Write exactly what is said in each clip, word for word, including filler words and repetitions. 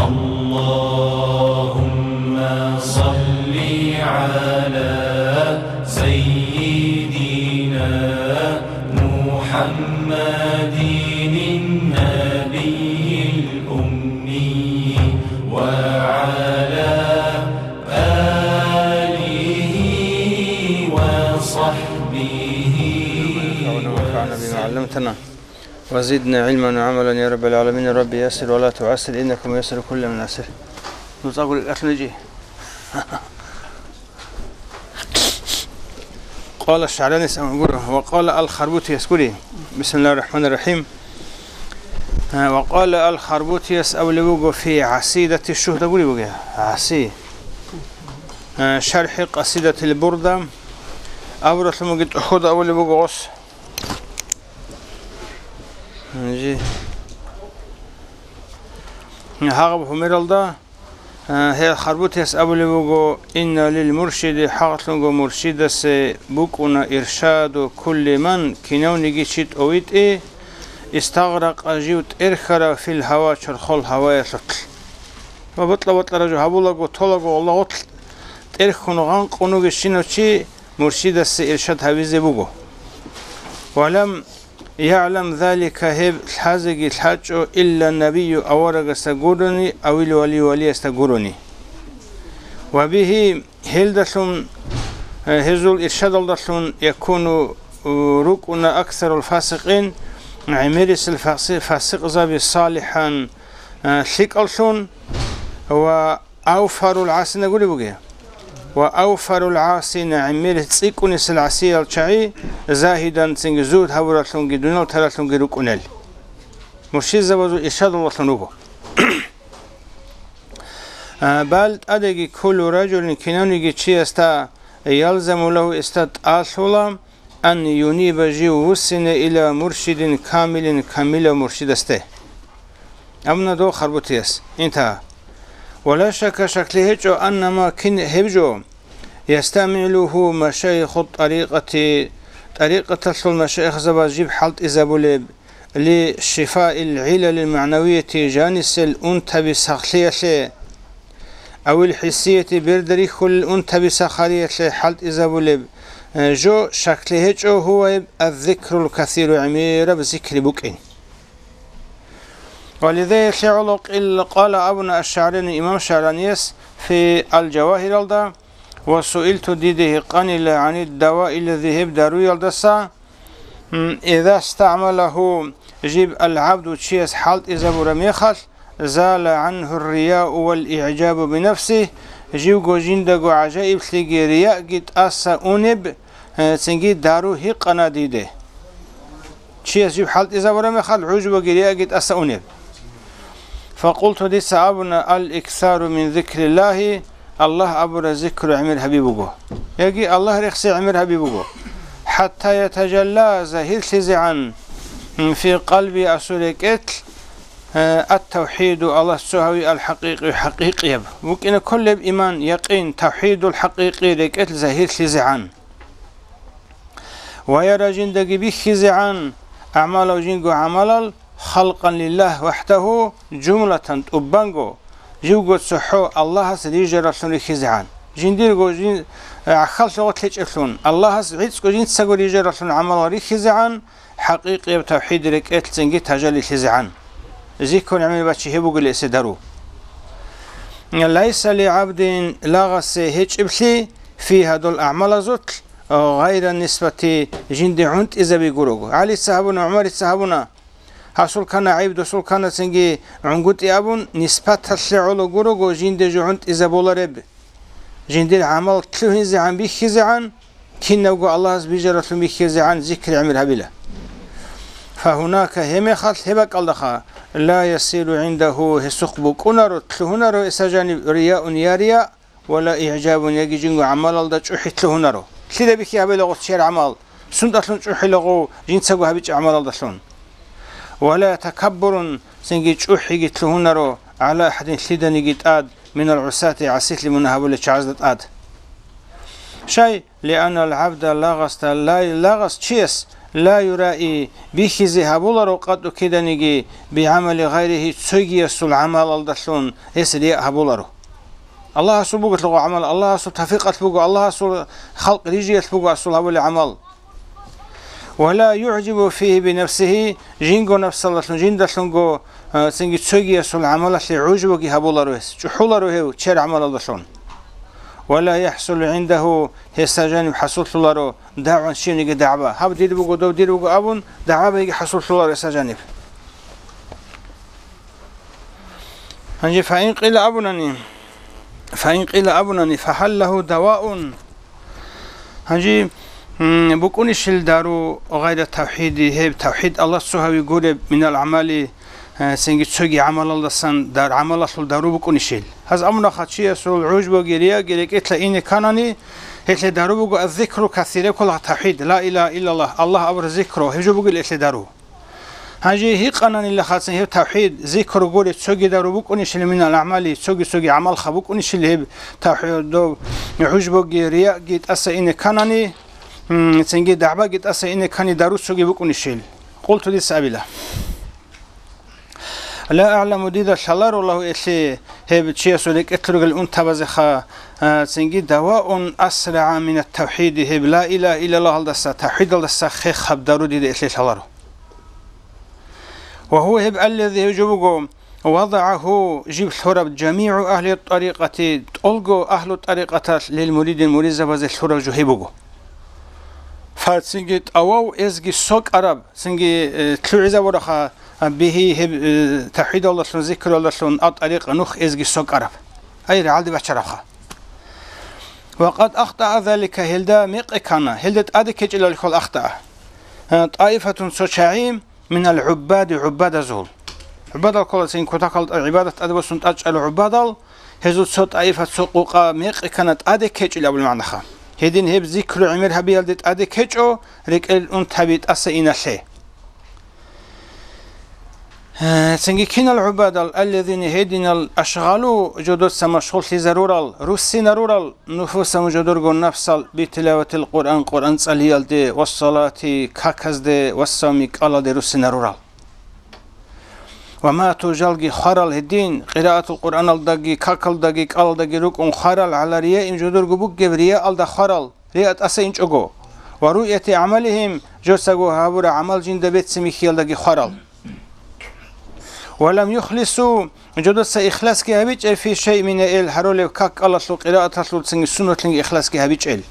اللهم صل على سيدنا محمد النبي الأمي وعلى آله وصحبه ونفعنا بما وسلم. علمتنا. وزدنا علما وعملا يا رب العالمين. رب يسر ولا تعسر إنك ميسر كل من عسر. نوز أقول لك أخلجي. قال الشعراني سأقول، وقال الخربوتي يسكري. بسم الله الرحمن الرحيم. آه، وقال الخربوتي يسأل في عسيدة الشهد أقول لك. عسي. آه، شرح قصيدة البردة. أبرة المجد أخذ أول بوغوس. Жи. Гьагъаб гьумералда, а, гьел харбутияс абулеб буго: «Инна лил муршиди», хӀакълъунго муршидасе букӀуна, «иршаду кулли ман», кинавниги чи тӀовитӀи, «истагъракъа», жив тӀерхьарав, «фил гьава», чорхол гьаваялъулъ. Ва бокьа-бокьараб жо гьабулаго, толаго, Аллагьулъ тӀерхьун гъанкъун вугев щинав чи муршидасе иршад гьавизе буго. «Ва лам ягӀлам залика», гьеб лъазеги лъачӀо, «илла набию», аварагасда гурони, «авил валию», валиясда гурони. «Ва бигьи», гьелдалъун, э, гьезул иршадалдалъун, «якуну», э, рукӀуна, «аксарул фасикъин», гӀемерисел фаси-, фасикъзаби, «салихӀан», э, лъикӀаллъун, «ва авфарул гӀасина», гуреб бугеб. «Ва авфарул гӀасина», гӀемер цӀикӀкӀунесел гӀасиял чагӀи, «загьидан», цинги зугьд гьабураллъунги дуниял таралъунги рукӀунел. Муршидзабазул иршадалдалъун руго. А, бал тӀадеги, «куллу ражулин», кинавниги чиясда, «ялзаму лагьу», гьесда тӀалъула, «ан юниба», жив вуссине, «ила муршидин камилин», камилав муршидасде. Амма дов харбутияс, интагьа. «Ва ла шакка», шаклъи гьечӀо, «анна ма», кин гьеб жо, «ястагӀмилугьу машайиху тӀарикъати», тӀарикъаталъул машайихзабаз жиб хӀалтӀизабулеб, «ли шифаил гӀилалил магӀнавияти», жанисел унтаби сахлъиялъе, «авил хӀиссияти», берда рихьулел унтаби сахариялъе хӀалтӀизабулеб, э, жо, шаклъи гьечӀо, «гьува», гьеб, «аззикрул касиру», гӀемераб зикри букӀин. Ва лизайилъе гӀоло къил-, къала абуна аш-ШагӀрани, имам ШагӀранияс, фи Ал-Жавагьиралда, «ва суилту», диде гьикъанила, «гӀанид-даваи», лази гьеб даруялдаса, м, «иза стагӀмалагьу», жиб, «ал-гӀабду», чияс хӀалтӀизабураб мехалъ, «зала гӀангьу ар-рияу вал-игӀжабу бинафсигь», живго жиндаго гӀажаиблъиги риягӀги тӀаса унеб, э, цинги дару гьикъана диде. Чияс жиб хӀалтӀизабураб мехалъ, гӀужбаги риягӀги тӀаса унеб. Факъулту, дица абуна: «Ал-иксару мин зикриллагьи», Аллагь абураб зикру гӀемер гьаби буго. Яги Аллагь рехси гӀемер гьаби буго. «ХӀатта ятажалла», загьирлъизегӀан, «фи къалби», асул рекӀелъ, э, «ат-тавхӀиду», Аллагь цо гьави, «ал-хӀакъикъи», хӀакъикъияб. БукӀина кколеб иман, якъин, тавхӀидул хӀакъикъи рекӀелъ загьирлъизегӀан. «Ва яра», жиндаги бихьизегӀан, «агӀмалав», жинго гӀамалал, «халкъан лиллагь вахӀдагьу», жумлатан, тӀубанго, живго цохӀо Аллагьас рижараллъун рихьизегӀан. Жиндирго жин-, гӀахьаллъи гъорлъ гьечӀеблъун, Аллагьас гӀицӀго жинцаго рижараллъун гӀамалал рихьизегӀан, хӀакъикъияб тавхӀид рекӀелъ цинги тажалилъизегӀан. Зикру гӀемер бачи гьеб бугила эсе дару. «Лайса ли гӀабдин», лагъасе гьечӀеблъи, «фи», гьадул агӀмалазулъ, «гъайра нисбати», жинде гӀунтӀизаби гурого. ГӀалица гьабуна, ГӀумарица гьабуна, гьасул ккана гӀайиб, досул ккана цинги гӀунгутӀи абун, нисбаталъе гӀоло гурого жинде жо гӀунтӀизабулареб. Жиндир гӀамал лъугьинзегӀан бихьизегӀан, кинабго Аллагьас бижараллъун бихьизегӀан зикри гӀемер гьабила. «Фагьунака», гьебмехалъ гьеб бакӀалдаха, «ла ясиру гӀиндагьу», гьесухъ букӀунаро, лъугьунаро гьесда жаниб рияун я рияъ, «ва ла игӀжабун», яги жинго гӀамалалда чӀухӀи лъугьунаро. Лъида бихьи гьабила гъос чияр гӀамал? Сундалъун чӀухӀила гъов жинцаго гьабичӀеб гӀамалалдалъун? «Ва ла такаббурун», цинги чӀухӀиги лъугьунаро, «гӀала ахӀадин», лъиданиги тӀад, «минал гӀусати», гӀасилъи мунагь гьабулел чагӀазда тӀад. Щай? «Лианнал гӀабда», лагъасда, лай-, лагъас чияс, لا يرائي, бихьизе гьабуларо къатӀу киданиги, بعمل غيره, цогиясул гӀамалалдалъун гьес рияъ гьабуларо. Аллагьасул буго гьелъул гӀамал, Аллагьасул тавфикъалъ буго, Аллагьасул халкъ рижиялъ буго асул гьабулел гӀамал. ولا يعجب فيه بنفسه, жинго напсалдалъун, жиндалъунго, а, цинги цогиясул гӀамалалъе гӀужбуги гьабуларо гьес, чӀухӀуларо гьев чияр гӀамалалдалъун. ولا يحصل عنده, гьесда жаниб хӀасуллъуларо, دعوى, щибниги дагӀба. Гьаб дир буго, доб дир буго абун, дагӀбаги хӀасуллъуларо гьесда жаниб. Гьанже فإن قيل абунани, فإن قيل абунани, فهل له دواء? Гьанже, м, букӀунищил дару غير التوحيد, гьеб тавхӀид Аллагьасул гьави гуреб, من الأعمال, э, цинги цоги гӀамалалдасан дар-, гӀамалалъул дару букӀунищил? Гьаз амрунаха чиясул гӀужбуги рияги рекӀелъа ине кканани, гьелъе дару буго الذكر الكثير, тавхӀид, لا إله إلا الله, Аллагь абураб зикру, гьеб жо бугел гьелъе дару. Гьанже гьикъананила хацин гьеб тавхӀид, зикру гури цоги дару букӀунищил, من الأعمال, цоги-цоги гӀамалха букӀунищил гьеб тавхӀид, доб гӀужбуги, рияги тӀаса ине кканани, м, цинги дагӀбаги тӀаса ине ккани дару цоги букӀунищил? قلت, дица абила. لا أعلم, дида лъаларо, له, гьелъе, гьеб чиясул рекӀелъ ругел унтабазеха, а, цинги دواء أسرع من التوحيد, гьеб لا إله إلا الله-алдаса, тавхӀидалдаса хехаб дару дида гьелъе лъаларо. وهو, гьеб, الذي, гьеб жо буго, وضعه, жиб лъураб, جميع أهل الطريقة, тӀолго агьлу тӀарикъаталъ للمريد, муридзабазе лъураб жо гьеб буго. Фа, цинги тӀавав эзги сокӀараб, цинги, э, лъугӀизабураха, а, به, гьеб, э, тавхӀидалдалъун, зикралдалъун, а, тӀарикъа нух эзги сокӀараб. Ай, рагӀалде бачарабха. وقد أخطأ ذلك, гьелда мекъи ккана, гьелда тӀаде ккечӀелалихъал ахтаа. А, طائفة, цо чагӀи, من العباد, гӀуббадазул. ГӀуббадал ккола цин кутакалда гӀибадат тӀаде босун тӀадчӀала гӀуббадал, гьезул цо тӀаифа, цо къукъа мекъи ккана тӀаде ккечӀел абул магӀнаха. Гьедин гьеб зикру гӀемер гьабиялде тӀаде ккечӀо, рекӀел унтаби тӀаса иналъе. Э, цинги кинал гӀубадал, الذين, гьединал, أشغلوا, жодоца машгъуллъизарурал, руссинарурал, نفوسهم, жодорго напсал, بتلاوة القرآن, Къуръан цӀалиялде, والصلاة, каказде, والصوم, кӀалалде руссинарурал. وماتوا, жалги хварал гьедин, قراءة القرآن-алдаги, какалдаги, кӀалалдаги рукӀун хварал, على رياء, жодорго бугеб рияалда хварал, рияа тӀаса инчӀого, ورؤية أعمالهم, жосаго гьабураб гӀамал жинда бецин бихьиялдаги хварал. ولم يخلصوا, жодоца ихласги гьабичӀеб, في شيء من, эл гьарулеб как-кӀалалъул, къирааталъул, цинги суннатлъинги ихласги гьабичӀел.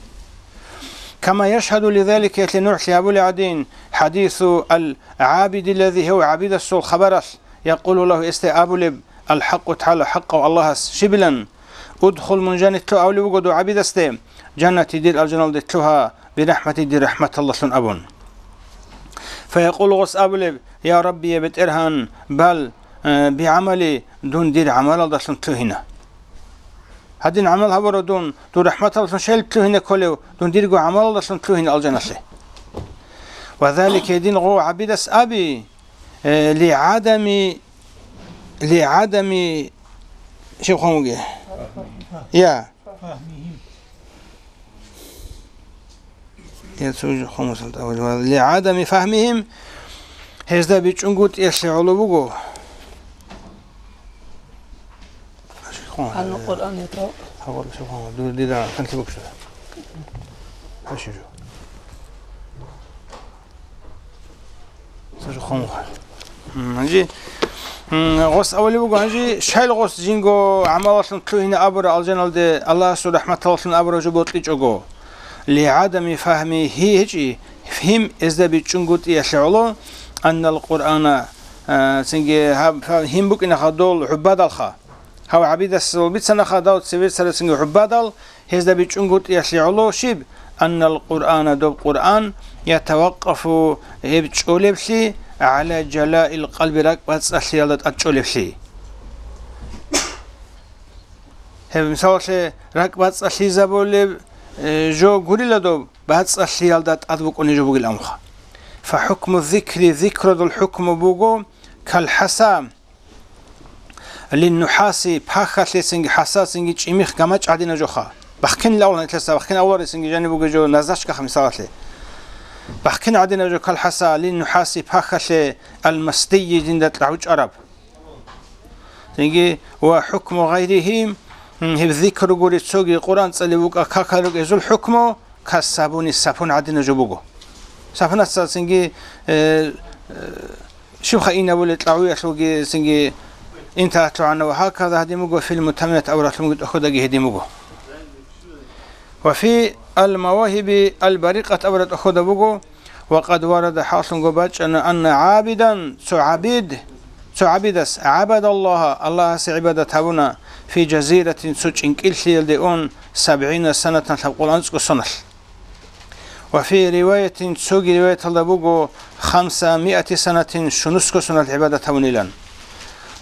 كما يشهد لذلك, гьелъие нугӀлъи гьабулеб гӀадин, حديث العابد الذي, гьев гӀабидасул хабаралъ, يقول له, гьесде абулеб, الحق تعالى, хӀакъав Аллагьас щибилан: ادخل, мун жанитлъу абулеб буго дов гӀабидасде, جنتي, дир алжаналде лъугьа, برحمتي, дир рахӀматалдалъун абун. فيقول, гъос абулеб: يا ربي, я БетӀергьан, بل, э, بعملي, дун дир гӀамалалдалъун лъугьина. Гьадин гӀамал гьабурав дун, дур рахӀматалдалъун щайилан лъугьине кколев, дун дирго гӀамалалдалъун лъугьина алжаналъе. وذلك, гьедин гъов гӀабидас аби, э, لعدم, لعدم, щиб хъван бугеб? Я. Я цо жо хъван бугеб, لعدم فهمهم, гьезда бичӀчӀунгутӀиялъе гӀоло буго. Гьанна Къуръан ятав. Гьаб, щиб хъван бугеб, дур дида канлъи букӀа. Гьащи жо. Цо жо хъван буго. М, гьанже, м, гъос абулеб буго, гьанже щайилан гъос жинго гӀамалалъун лъугьина абура алжаналде, Аллагьасул рахӀматалдалъун абура жо бокьичӀого. لعدم فهمهم, гьечӀи, гьим гьезда бичӀчӀунгутӀиялъе гӀоло, أن القرآن, а, цинги гьаб, фа-, гьим букӀинаха дол гӀуббадалха. Гьав гӀабидасул бицанаха дов цеве царацинги гӀуббадал, гьезда бичӀчӀунгутӀиялъе гӀоло щиб, أن القرآن, доб Къуръан, يتوقف, гьеб чӀолеблъи, على جلاء القلب, ракӀбацӀцӀалъиялда тӀад чӀолеблъи. Гьеб, мисалалъе, ракӀбацӀцӀалъизабулеб, э, жо гурила доб, бацӀцӀалъиялда тӀад букӀунеб жо бугилан абунха. فحكم الذكر, зикруялъул хӀукму буго, كالحصى, للنحاس, пахьалъе цинги, хӀасацинги чӀимихъ гамачӀ гьадинаб жоха. Бахъинилан абула нилъеца, бахъин абуларецинги жаниб бугеб жо назачкаха, мисалалъе. Бахъин гӀадинаб жо калхаса лин нухӀаси пахьалъе алмасдийи жинда кьагӀучӀараб. Цинги ва хӀукму гъайригьи, м, гьеб зикру гури цоги Къуръан цӀали вукӀа какал рукӀезул хӀукму касабуни сапун гӀадинаб жо буго. Сапунасда цинги, э, э, щибха инабулел кьагӀуялъулги цинги инталъугӀана ва гьаказа гьадин буго, фил мутамимат авралъунги тӀохьодаги гьедин буго. Ва фи ал-Мавагьиби ал-Барикъат абураб тӀохьода буго, ва къад варада, хӀакълъунго бачӀана, анна гӀабидан, цо гӀабид, цо гӀабидас, гӀабадаллагьа, Аллагьасе гӀибадат гьабуна, фи жазиратин, цо чӀинкӀиллъиялде ун, сабгӀина санатан, лъабкъул анцӀго соналъ. Ва фи риваятин, цоги риваяталда буго, хамса миати санатин, щунусго соналъ гӀибадат гьабунилан.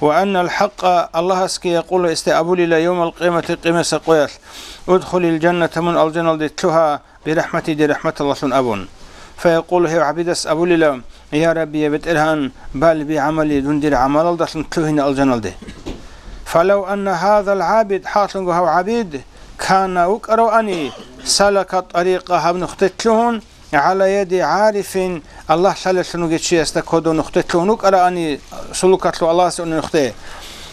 Ва аннал хӀакъа, Аллагьасги якъула, гьесде абулила, явмал къиямати, къиямасеб къоялъ, удхулил жанната, мун алжаналде лъугьа, бирахӀмати, дир рахӀматалдалъун абун. Фаякъулу, гьев гӀабидас абулила, я Рабби, я БетӀергьан, бал би гӀамали, дун дир гӀамалалдалъун лъугьина алжаналде. Фалав анна гьазал гӀабид, хӀакълъунго гьав гӀабид, кана вукӀаравани, салака тӀарикъа, гьаб нухде лъугьун, гӀала яди гӀарифин, Аллагь лъалеллъун вугев чиясда кодо нухде лъугьун вукӀаравани, сулукалъул Аллагьасе унев нухде.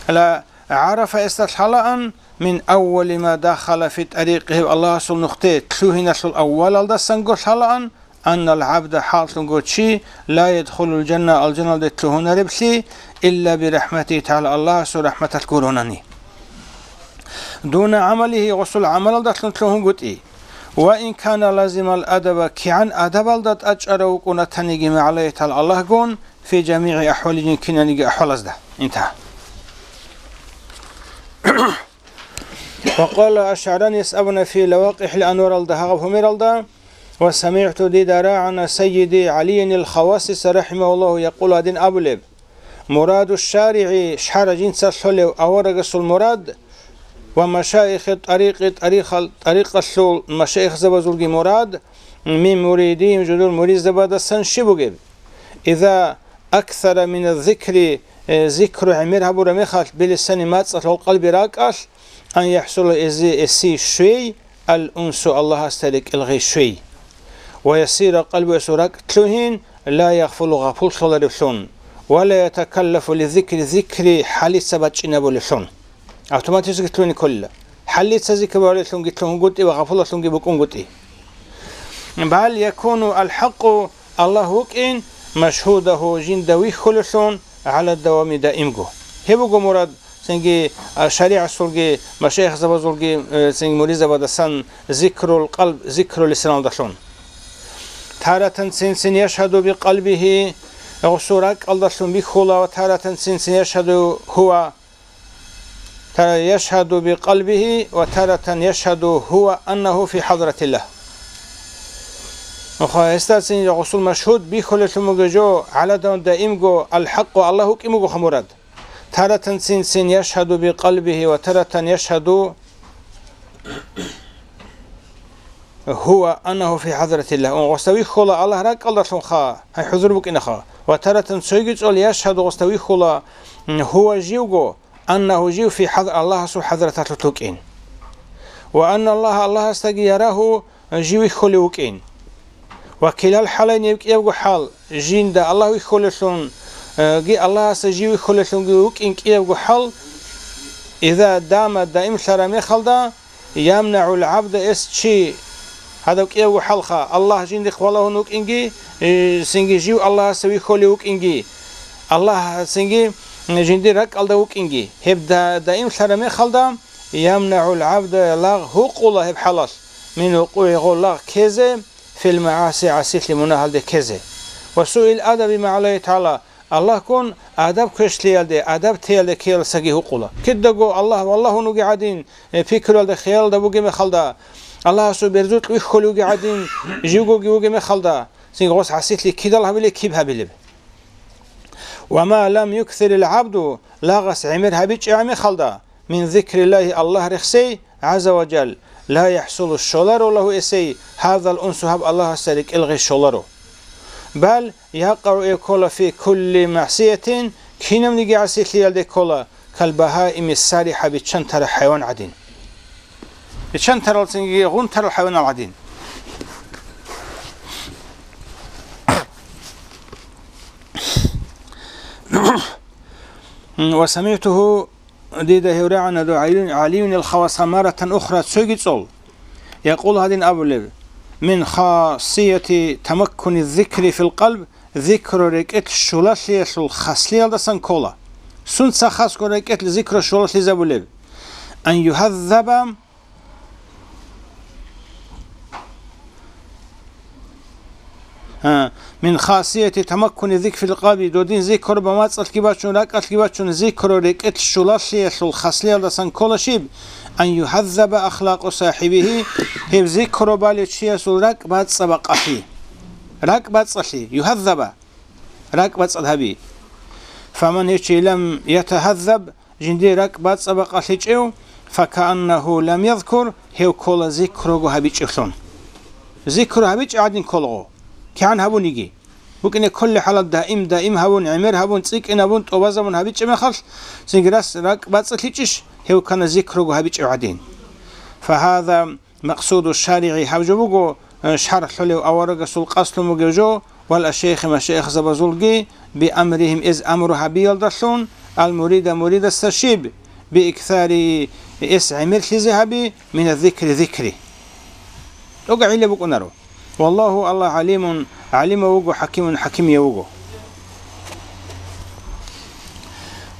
Ла гӀарафа, гьесда лъалаан, мин аввали ма дахала фи тӀарикъи, гьев Аллагьасул нухде лъугьиналъул аввалалдасанго лъалаан, аннал гӀабда, хӀакълъунго чи, ла ядхулул жанна, алжаналде лъугьунареблъи, илла бирахӀматихӀи тагӀала, Аллагьасул рахӀматалъ гуронани. Дуна гӀамалихӀи, гъосул гӀамалалдалъун лъугьунгутӀи. Ва ин кана лазимал адаба, кигӀан адабалда тӀачӀарав вукӀун ратаниги, магӀалайитал Аллагьгун, фи жамигӀи ахӀвалихӀи, кинаниги ахӀвалазда. Интагьа. Ва къала аш-ШагӀранияс абуна фи ЛавакъихӀил анваралда, гьагъаб гьумералда, ва самигӀту, дида рагӀана, сайиди ГӀалиянил Хавасиса рахӀимагьуллагьу якъулу, гьадин абулеб: «Мураду шаригӀи, шаргӀ жинца лъолев аварагасул мурад, ва машаихи тӀарикъи, тӀарихал-, тӀарикъалъул машаихзабазулги мурад, мин муридийим, жидер муридзабаздасан щиб бугеб? Иза аксара мина зикри, э, зикру гӀемер гьабураб мехалъ, билисани, мацӀалъ, вал къалби, ракӀалъ, ан яхӀсула, эзе, эси щвей, ал-унсу, Аллагьасда рекӀел гъей щвей. Ва ясира, къалбуясул ракӀ лъугьин, ла ягъфулу, гъапуллъуларевлъун, ва ла ятакаллафу ли зикри, зикри хӀалица бачӀинабулевлъун». Автоматически лъугьине кколила. ХӀалица зикр баралеллъунги лъугьунгутӀи ва гъапулалъунги букӀунгутӀи. Бал якуну ал-хӀакъу, Аллагь вукӀин, машгьудагьу, жинда вихьулеллъун, гӀала давами, даимго. Гьеб буго мурад, цинги, а, шаригӀаталъулги, машаихзабазулги, э, цинги муридзабаздасан зикрул къалб, зикру лисаналдалъун. Таратан цин-цин яшгьаду бикъалбигьи, гъосул ракӀалдалъун бихьула, ва таратан цин-цин яшгьаду гьува, Тара яшгьаду бикъалбигьи ва таратан яшгьаду гьува аннагьу фи хӀадратиллагь. Нуха гьесдацин гъусул машгьуд бихьулелъун буго жо гӀаладан даимго ал-хӀакъу Аллагь вукӀин бугоха мурад. Таратан цин-цин яшгьаду бикъалбигьи ва таратан яшгьаду гьува аннагьу фи хӀадратиллагь. Ун гъоста вихьула Аллагь ракӀалдалъунха, гьай хӀузур букӀинаха. Ва таратан цойги цӀол яшгьаду гъоста вихьула, м, гьува живго, аннагьу жив фи хӀад-, Аллагьасул хӀадраталъулъ вукӀин. Ва анна Аллагь, Аллагьасдаги ярагьу жив вихьулев вукӀин. Ва килал хӀалайни гьеб кӀиябго хӀал, жинда Аллагь вихьулелъун, э, ги Аллагьасда жив вихьулелъунги вукӀин кӀиябго хӀал, иза дама даимлъараб мехалда, ямнагӀул гӀабда эс чи, гьадаб кӀиябго хӀалха, Аллагь жиндихъ валагьун вукӀинги, э, цинги жив Аллагьасда вихьулев вукӀинги, Аллагь цинги жиндир ракӀалда вукӀинги, гьеб да-, даимлъараб мехалда, ямнагӀул гӀабда лагъ гьукъула гьеб хӀалалъ, мин вукъугӀи гъо лагъ ккезе, фил магӀаси гӀасилъи мунагьалде ккезе. Ва суил адаби магӀалайи тагӀала, Аллагьгун адаб квешлъиялде, адаб теялде ккеялдасаги гьукъула. Кидаго Аллагь валагьун вугев гӀадин, э, пикруялда, хиялалда бугеб мехалда, Аллагьасул берзукь вихьулев вугев гӀадин, живгоги вугеб мехалда, цинги гъос гӀасилъи кидал гьабилеб, киб гьабилеб? Ва ма лам юксирил гӀабду, лагъас гӀемер гьабичӀеб мехалда, мин зикриллагьи, Аллагь рехсей, гӀазза ва жал, ла яхӀсулу, щоларо лагьу эсей, гьазал унсу, гьаб Аллагьасда рекӀел гъей щоларо. Бал якъагӀу, гьеб ккола, фи кулли магӀсиятин, кинабниги гӀасилъиялде ккола, кал багьаими сарихӀа, биччан тарал хӀайван гӀадин. Биччан тарал цинги гъун тарал хӀайванал гӀадин. М, ва самигӀтугьу, дида гьев рагӀана, ду ГӀалиюн, ГӀалиюнил хаваса маратан ухра, цоги цӀол, якъул, гьадин абулеб: «Мин хасияти тамаккуни зикри фил къалб», зикру рекӀелъ щулалъиялъул хаслиялдасан ккола. Сунца хасго рекӀелъ зикру щулалъизабулеб? Ан югьаззаба А, мин хасияти тамаккуни зикр фил къалби, додин зикр ба мацӀалъги бачун, ракӀалъги бачун, зикру рекӀелъ щулалъиялъул хаслиялдасан ккола щиб? Ан югьаззаба ахлакъу сахибихи, гьеб зикру балев чиясул ракӀ бацӀцӀа бакъалъи. РакӀ бацӀцӀалъи, югьаззаба, ракӀ бацӀцӀад гьаби. Фаман гьев чи лам ятагьаззаб, жиндир ракӀ бацӀцӀа бакъалъичӀев, факааннагьу лам язкур, гьев ккола зикруго гьабичӀевлъун. Зикру гьабичӀеб гӀадин кколаго, кигӀан гьабуниги. БукӀине кколеб хӀалалъ даим-даим гьабун, гӀемер гьабун, цӀикӀкӀинабун, тӀубазабун гьабичӀеб мехалъ, цинги рас ракӀ бацӀцӀалъичӀищ, гьев ккана зикруго гьабичӀев гӀадин. Фагьаза макъсуду шаригӀи, гьаб жо буго, э, шаргӀ лъолев аварагасул къасд лъун бугев жо, вал ашейхи, машайихзабазулги, биамрихим, эс амру гьабиялдалъун, ал мурида, муридасда щиб, бииксари, эс гӀемерлъизе гьаби, мина зикри, зикри. ТӀокӀа гӀилла букӀунаро. Валлагьу, Аллагь, гӀалимун, гӀалимав вуго, хӀакимун, хӀакимияв вуго.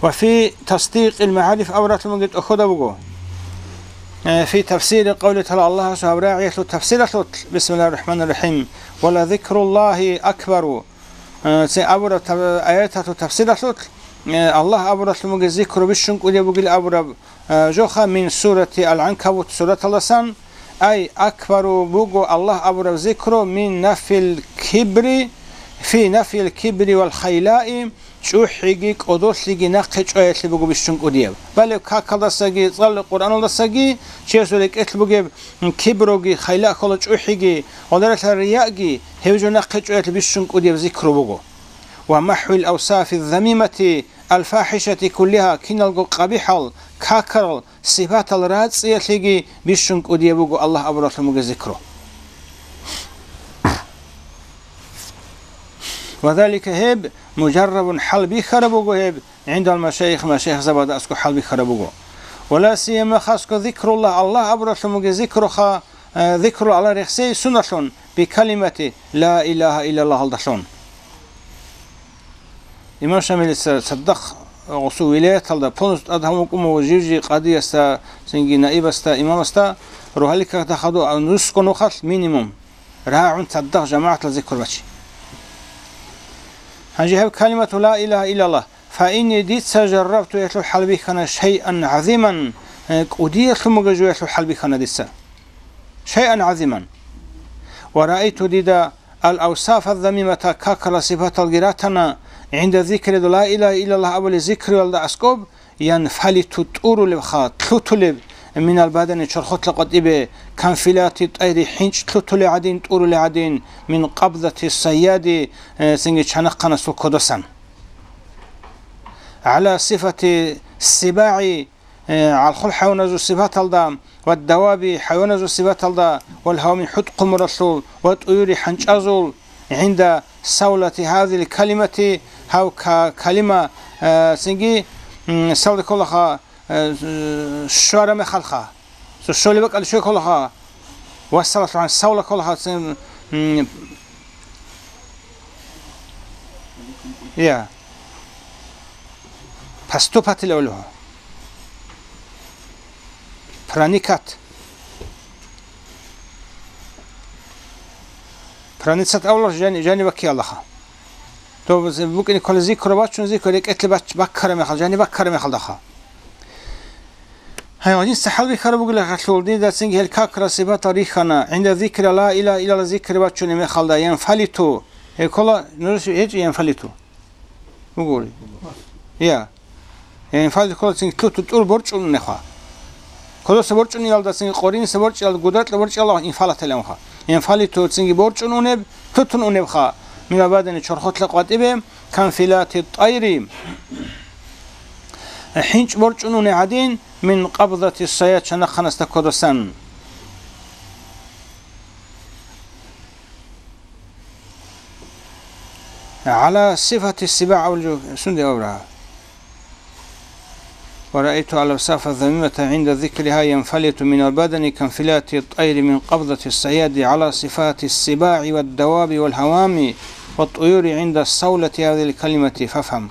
Ва фи тасдикъил магӀариф авратлъунги тӀохода буго. Э, фи тафсири къавли тагӀала, Аллагьасул гьаб рагӀиялъул тафсиралъулъ, бисмиллагьир рахӀманир рахӀим, «Ва ла зикруллагьи акбару». Э, цин абураб та-, аяталъул тафсиралъулъ, э, Аллагь абуратлъун бугеб зикру бищун кӀудияб бугил абураб, э, жоха мин сурати Ал-ГӀанкабут сураталдасан, ай, акбару буго Аллагь абураб зикру мин нафил кибри, фи нафил кибри вал хайлаи, чӀухӀиги кӀодолъиги нахъе чӀваялъе буго бищун кӀудияб. Балеб какалдасаги, цӀалулеб Къуръаналдасаги чиясул рекӀелъ бугеб кибруги, хайлаъ ккола чӀухӀиги, гъодаралъа рияги, гьев жо нахъе чӀваялъе бищун кӀудияб зикру буго. Ва махӀвил авсафи замимати ал фахӀишати куллиха, киналго къабихӀал, какарал, сипатал рацӀцӀиялъеги бищун кӀудияб буго Аллагь абураблъун бугеб зикру. Ва залика, гьеб, мужаррабун, хӀалбихьараб буго гьеб, гӀиндал машайих, машайихзабазда аскӀоб хӀалбихьараб буго. Ва ла сияма, хасго, зикруллагь, Аллагь абураблъун бугеб зикруха, э, зикру Аллагь рехсей суналъун, бикалимати ла илагьа иллаллагьалдалъун. Имам Шамилица цадахъ гъосул вилаяталда полностью тӀад гьавун вукӀун вуго жив-жив къадиясда, цинги наибасда, имамасда, рогьалил какда хадув, а нусго нухалъ минимум рагӀун цадахъ жамагӀаталда зикр бачи. Гьанже гьеб калимату ла илагьа иллаллагь, фа инни, дица жаррабту, гьелъул хӀалбихьана, шайъан гӀазиман, э, кӀудиялъун бугеб жоялъул хӀалбихьана дица. Шайъан гӀазиман. Ва раайту, дида ал-авсафа замимата, какала сипаталги ратана, гӀинда зикри ла илагьа иллаллагь абулеб зикруялда аскӀоб, янфалиту, тӀурулебха, лъутулеб, минал бадани, чорхолъа къватӀибе, канфилати тӀайри, хӀинчӀ лъутулеб гӀадин, тӀурулеб гӀадин, мин къабзати сайяди, э, цинги чанахъанасул кодосан. ГӀала сифати сибагӀи, э, гӀалхул хӀайваназул сипаталда, ва даваби, хӀайваназул сипаталда, вал гьавми, хӀутӀ-хъумуралъул, ва тӀуюри, хӀанчӀазул, гӀинда савлати гьазил калимати, гьав ка-, калима, э, цинги, м, савла кколаха, э, щвара мехалха. Цо щолеб бакӀалде щвей кколаха, вассалалъухъан савла кколаха, цин, м, я. Поступать авлугьу. Проникать. Проницать авлугьу жани, жани бакки Аллаха. То букӀине ккола зикру бачун, зикру рекӀелъе бач-, баккара мехал, жани баккара мехалдаха. Гьай, гьадин сахӀал бихьараб бугила гьалъул, дида цинги гьел какра сипатал рихьана, гӀинда зикри ла илагьа иллаллагь зикри бачунеб мехалда, янфалиту, гьекола, нуж гьечӀо янфалиту. Бугури. Я. Янфалиту ккола цинги лъуту тӀур борчӀун унеха. Кодоса борчӀун иялда цинги къориниса борчӀиялда, гудакьа борчӀиялда инфалат гьеланха. Янфалиту цинги борчӀун унеб, лъутун унебха. Мин абадани чорхолъа къватӀибе, канфилати тӀайри. ХӀинчӀ борчӀун унеб гӀадин, мин къабзати сайяд чанахъанасда кодосан. ГӀала сифати сибагӀ авлу сунде авра. ورأيت الأوصاف الذميمة عند ذكرها ينفلت من البدن كانفلات الطير من قبضة الصياد على صفات السباع والدواب والهوام والطيور عند صولة هذه الكلمة فافهم.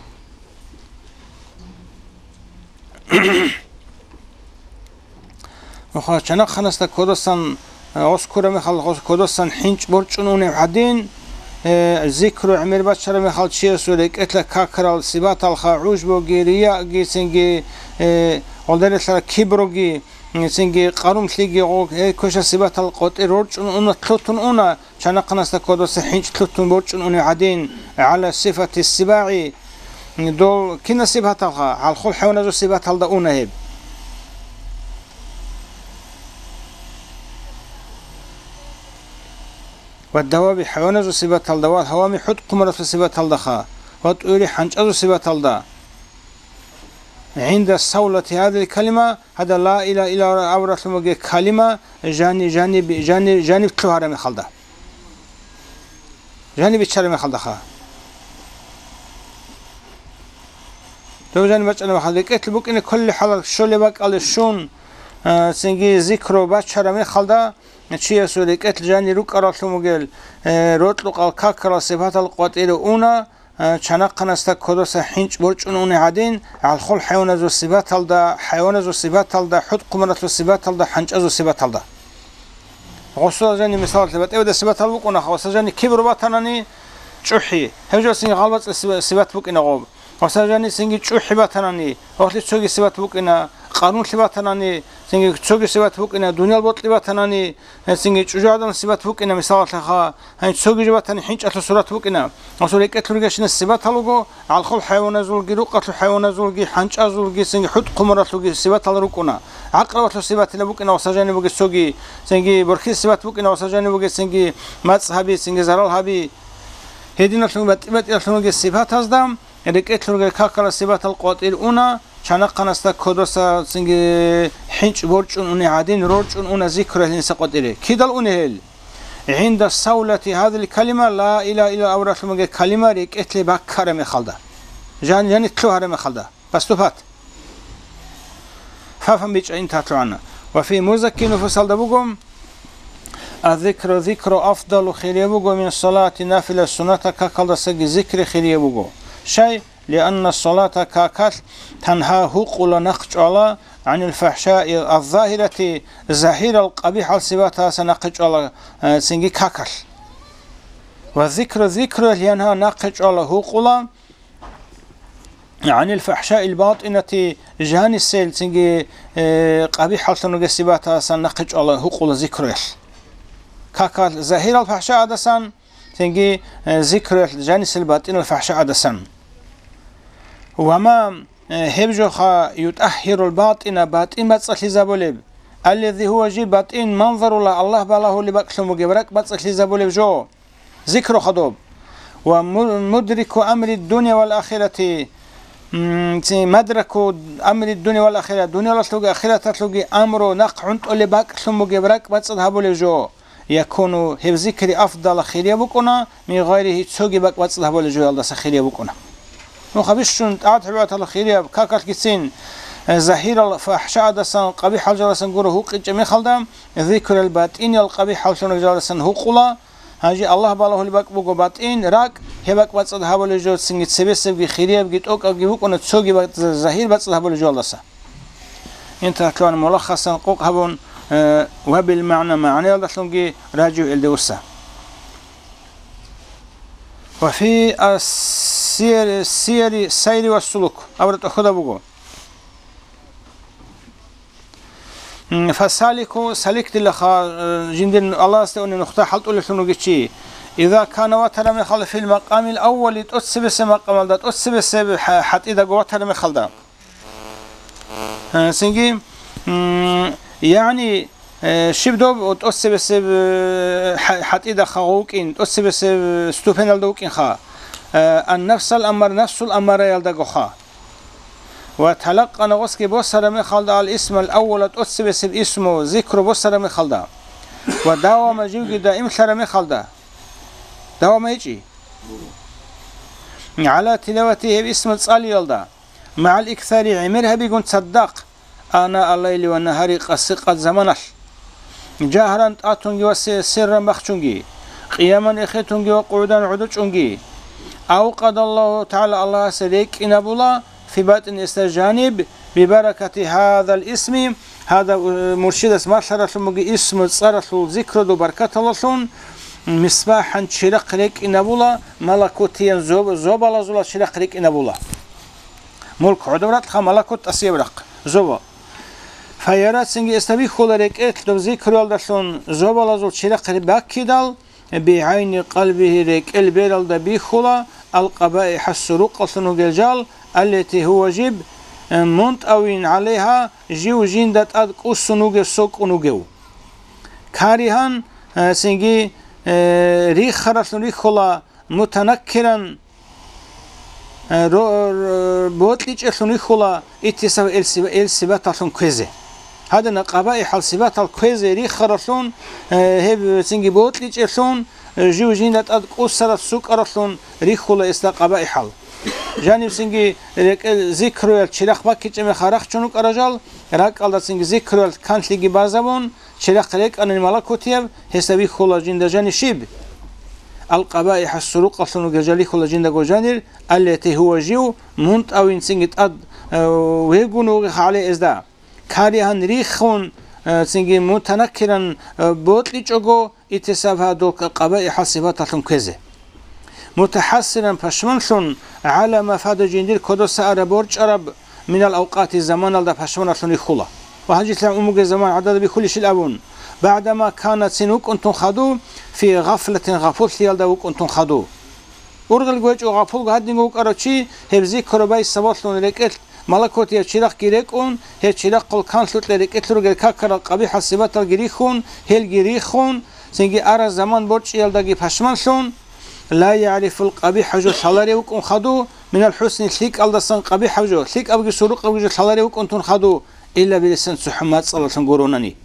Нуха чанахъанасда кодасан, э, гъос ккураб мехалда гъос кодасан хӀинчӀ борчӀун унеб гӀадин, э, зикру гӀемер бачараб мехалда чиясул рекӀелъа какарал сипаталха гӀужбуги, рияги, цинги, э, гъолдарелъа кибруги, цинги къарумлъиги, гъо-, гьей квешал сипатал къотӀи рорчӀун уна, лъутун уна, чанахъанасда кодаса хӀинчӀ лъутун борчӀун унев гӀадин, гӀала сифати сибагӀи, дол кинаб сипаталха, гӀалхул хӀайваназул сипаталда уна гьеб. Ва даваби хӀайваназул сипаталда, ва гьавами хӀутӀ-хъумаралъул сипаталдаха, ва тӀури хӀанчӀазул сипаталда. ГӀинда саулати гьадил калима, гьада ла илагьа иллаллагь абуралъумаги калима, жани, жани, жани, жаниб лъугьараб мехалда. Жаниб биччараб мехалдаха. Дов жаниб бачӀараб мехалда. РекӀелъ букӀине кколел хӀалал щолеб бакӀалде щун, а, цинги зикру бачараб мехалда, чиясул рекӀелъ жани рукӀаралъумагел, э, рокьукъал какарал сипатал къватӀире уна, а, чанахъанасда кодаса хӀинчӀ борчӀун уни гӀадин, гӀалхул хӀайваназул сипаталда, хӀайваназул сипаталда, хӀутӀ-хъумаралъул сипаталда, хӀанчӀазул сипаталда. Гъосул жани мисалалъе батӀиябда сипатал букӀуна, гъосул жани кибру батанани, чӀухӀи. Гьеб жо цинги гъалбацӀи сиба-, сипат букӀина гъоб. Гъосул жани цинги чӀухӀи батанани, гъолъи цоги сипат букӀина, къарумлъи батанани, цинги цоги сипат букӀина, дуниял бокьи батанани, цинги чӀужугӀадан сипат букӀина, мисалалъеха. Гьанже цоги жо батани хӀинчӀалъул сурат букӀина. Гъосул рекӀелъ ругещина сипатал руго, гӀалхул хӀайваназулги, рукъалъул хӀайваназулги, хӀанчӀазулги, цинги хӀутӀ-хъумаралъулги сипатал рукӀуна. ГӀакърабалъул сипатила букӀина ва сажани бугес цоги, цинги борхьил сипат букӀина ва сажани бугес цинги мацӀ гьаби, цинги зарал гьаби. Гьединалъун батӀи-батӀиялъун вугес сипатазда, рекӀелъ ругел какала сипатал къватӀир уна, чанахъанасда кодоса цинги хӀинчӀ борчӀун уни гӀадин, рорчӀун уна зикру гьелинса къватӀире. Кидал уни гьел? ГӀинда саулати гьадил калима, ла илагьа иллаллагь абуралъумаги калима рекӀелъе баккара мехалда. Жан-, жанит лъугьара мехалда. Паступат. Фафан бичӀа интатлъугӀана. Ва фи музакки нуфусалда буго, аззикру зикру афдалу хирияб буго мин салати нафила суннатал какалдасаги зикри хирияб буго. Щай? Лианна салата какал танха гьукъула нахъ чӀвала гӀанил фахӀшаи аззагьирати, загьирал къабихӀал сипатаса нахъе чӀвала, э, цинги какал. Ва зикру зикру янха нахъе чӀвала гьукъула гӀанил фахӀшаил батӀинати, жанисел цинги, э, къабихӀаллъун ругел сипатасан нахъе чӀвала гьукъула зикруялъ. Какал загьирал фахӀша гӀадасан, цинги, э, зикруялъ жанисел батӀинал фахӀша гӀадасан. Ва ма, э, гьеб жоха ютӀагьгьирул батӀина батӀин бацӀцӀалъизабулеб, аллази гьува жиб батӀин манзарула Аллагь балагьулеб бакӀлъун бугеб ракӀ бацӀцӀалъизабулеб жо. Зикру хадуб. Ва му-, мудрику амри дунья вал ахирати, м, ци-, мадраку амри дунья вал ахира, дуньялалъуги ахираталъуги амру нахъ гӀунтӀулеб бакӀлъун бугеб ракӀ бацӀцӀад гьабулеб жо. Якуну гьеб зикри афдала хирияб букӀуна, мин гъайрихи цоги бакӀ бацӀцӀад гьабулеб жоялдаса хирияб букӀуна. Нуха бищун тӀагӀат-гӀибадаталъул хирияб какалъгицин, э, загьирал фахӀша гӀадасан, къабихӀал жаласан гуро гьукъичӀеб мехалда, зикрал батӀиниял къабихӀаллъун жаласан гьукъула, Гьанже Аллагь балагьулеб бакӀ буго батӀин, ракӀ, гьеб бакӀ бацӀцӀад гьабулеб жо цинги цебесебги, хириябги, тӀокӀабги букӀуна цоги бакӀ-, загьир бацӀцӀад гьабулеб жоялдаса. Инталъугьан мулаххасан къокъ гьабун, э, ва бил магӀна, магӀнаялдалъунги ражу гьелде вуса. Ва фи ас-сияри, сияри сайри ва сулук абураб тӀохьуда буго. М, фасалику, салик дилаха, э, жиндир Аллагьасде унев нухда хӀалтӀулелъун вугев чи. Иза кана ватара мехалда фил макъамил аввали, тӀоцебесеб макъамалда, тӀоцебесеб хӀа-, хӀатӀидаго ватара мехалда. Э, цинги, м, яни, э, щиб доб тӀоцебесеб, э, хӀа-, хӀатӀида хагъ вукӀин, тӀоцебесеб ступеналда вукӀинха. Э, ан-нафсал аммар, нафсул аммараялдагоха. Ва талакъана гъосги босара мехалда ал-исмал аввала тӀоцебесеб исму зикру босара мехалда. Ва давама живги даимлъара мехалда. Давама гьечӀи. ГӀала тилавати гьеб исму цӀалиялда. магӀал иксари гӀемер гьабигун цадахъ, ана аллайли ва нагьари къаси-къад заманалъ, жагьран тӀатунги ва се-, сирран бахчунги, къияман эхетунги ва къугӀдан гӀодочӀунги. Ав къадаллагьу тагӀала, Аллагьас рекӀинабула, фи батӀин эсда жаниб, бибаракати гьадал исми, гьадав, э, муршидас малъаралъун бугеб исму цӀаралъул зикруду баркаталалъун, мисбахӀан чирахъ рекӀинабула, малакутиян зоб-, зобалазула чирахъ рекӀинабула. Мулк гӀодоб ракьха, малакут тӀасияб рахъ, зобал. Фаяра, цинги эсда бихьула рекӀелъ доб зикруялдалъун зобалазул чирахъ баккидал, бигӀайни къалбигьи, рекӀел бералда бихьула, алкъабаихӀа, сурукъалъун вугел жал, аллати гьува жиб, э, мунтӀавин гӀалайгьа, жив жинда тӀад кӀусун вугев, сокӀун вугев. Каригьан, э, цинги, э, рихаралъун рихьула, мутанаккиран, э, ро-, ро-, бокьичӀелъун рихьула иттисаф ил сиба-, ил сибаталъун кквезе. Гьадина къабаихӀал сибатал кквезе рихаралъун, э, гьеб цинги бокьичӀелъун, э, жив жинда тӀад кӀусараб сукӀаралъун рихьула эсда къабаихӀал. Жаниб цинги рекӀел зикруял чирахъ баккичӀеб мехалъ рахчун рукӀарал жал, ракӀалда цинги зикруял канлъиги базабун, чирахъ рекӀанани малакутияб, гьесда бихьула жинда жанир щиб? АлкъабаихӀа, сурукъалъун вугел жал рихьула жиндаго жанир, аллати гьува жив, мунтӀавин цинги тӀад, э, вегун вугев гӀалайгьа эзда. Каригьан рихун, э, цинги мутанаккиран, э, бокьичӀого, иттисаф гьадул къабаихӀал сибаталъун кквезе. МутахӀассиран, пашманлъун, гӀала ма фада, жиндир кодоса араб борчӀараб, минал авкъати, заманалда пашманалъун рихьула. Ва гьанже лъагӀун бугеб заман гӀадада бихьулищил абун, багӀдама кана, цин вукӀунтун хадув, фи гъафлатин, гъапуллъиялда вукӀунтун хадув. Ургъел гьечӀо гъапулго гьадинго вукӀарав чи, гьеб зикру байс сабаблъун рекӀелъ малакутияб чирахъги рекӀун, гьеб чирахъул канлъукье рекӀелъ ругел какарал къабихӀал сибаталги рихьун, гьелги рихун, цинги араб заман борчӀиялдаги пашманлъун, ла ягӀрифул къабихӀа, жо лъаларев вукӀун хадув, минал хӀусни, лъикӀалдасан къабихӀаб жо, лъикӀабги сурукъабги жо лъаларев вукӀунтун хадув, илла билисан, цохӀо мацӀалалъун гуронани.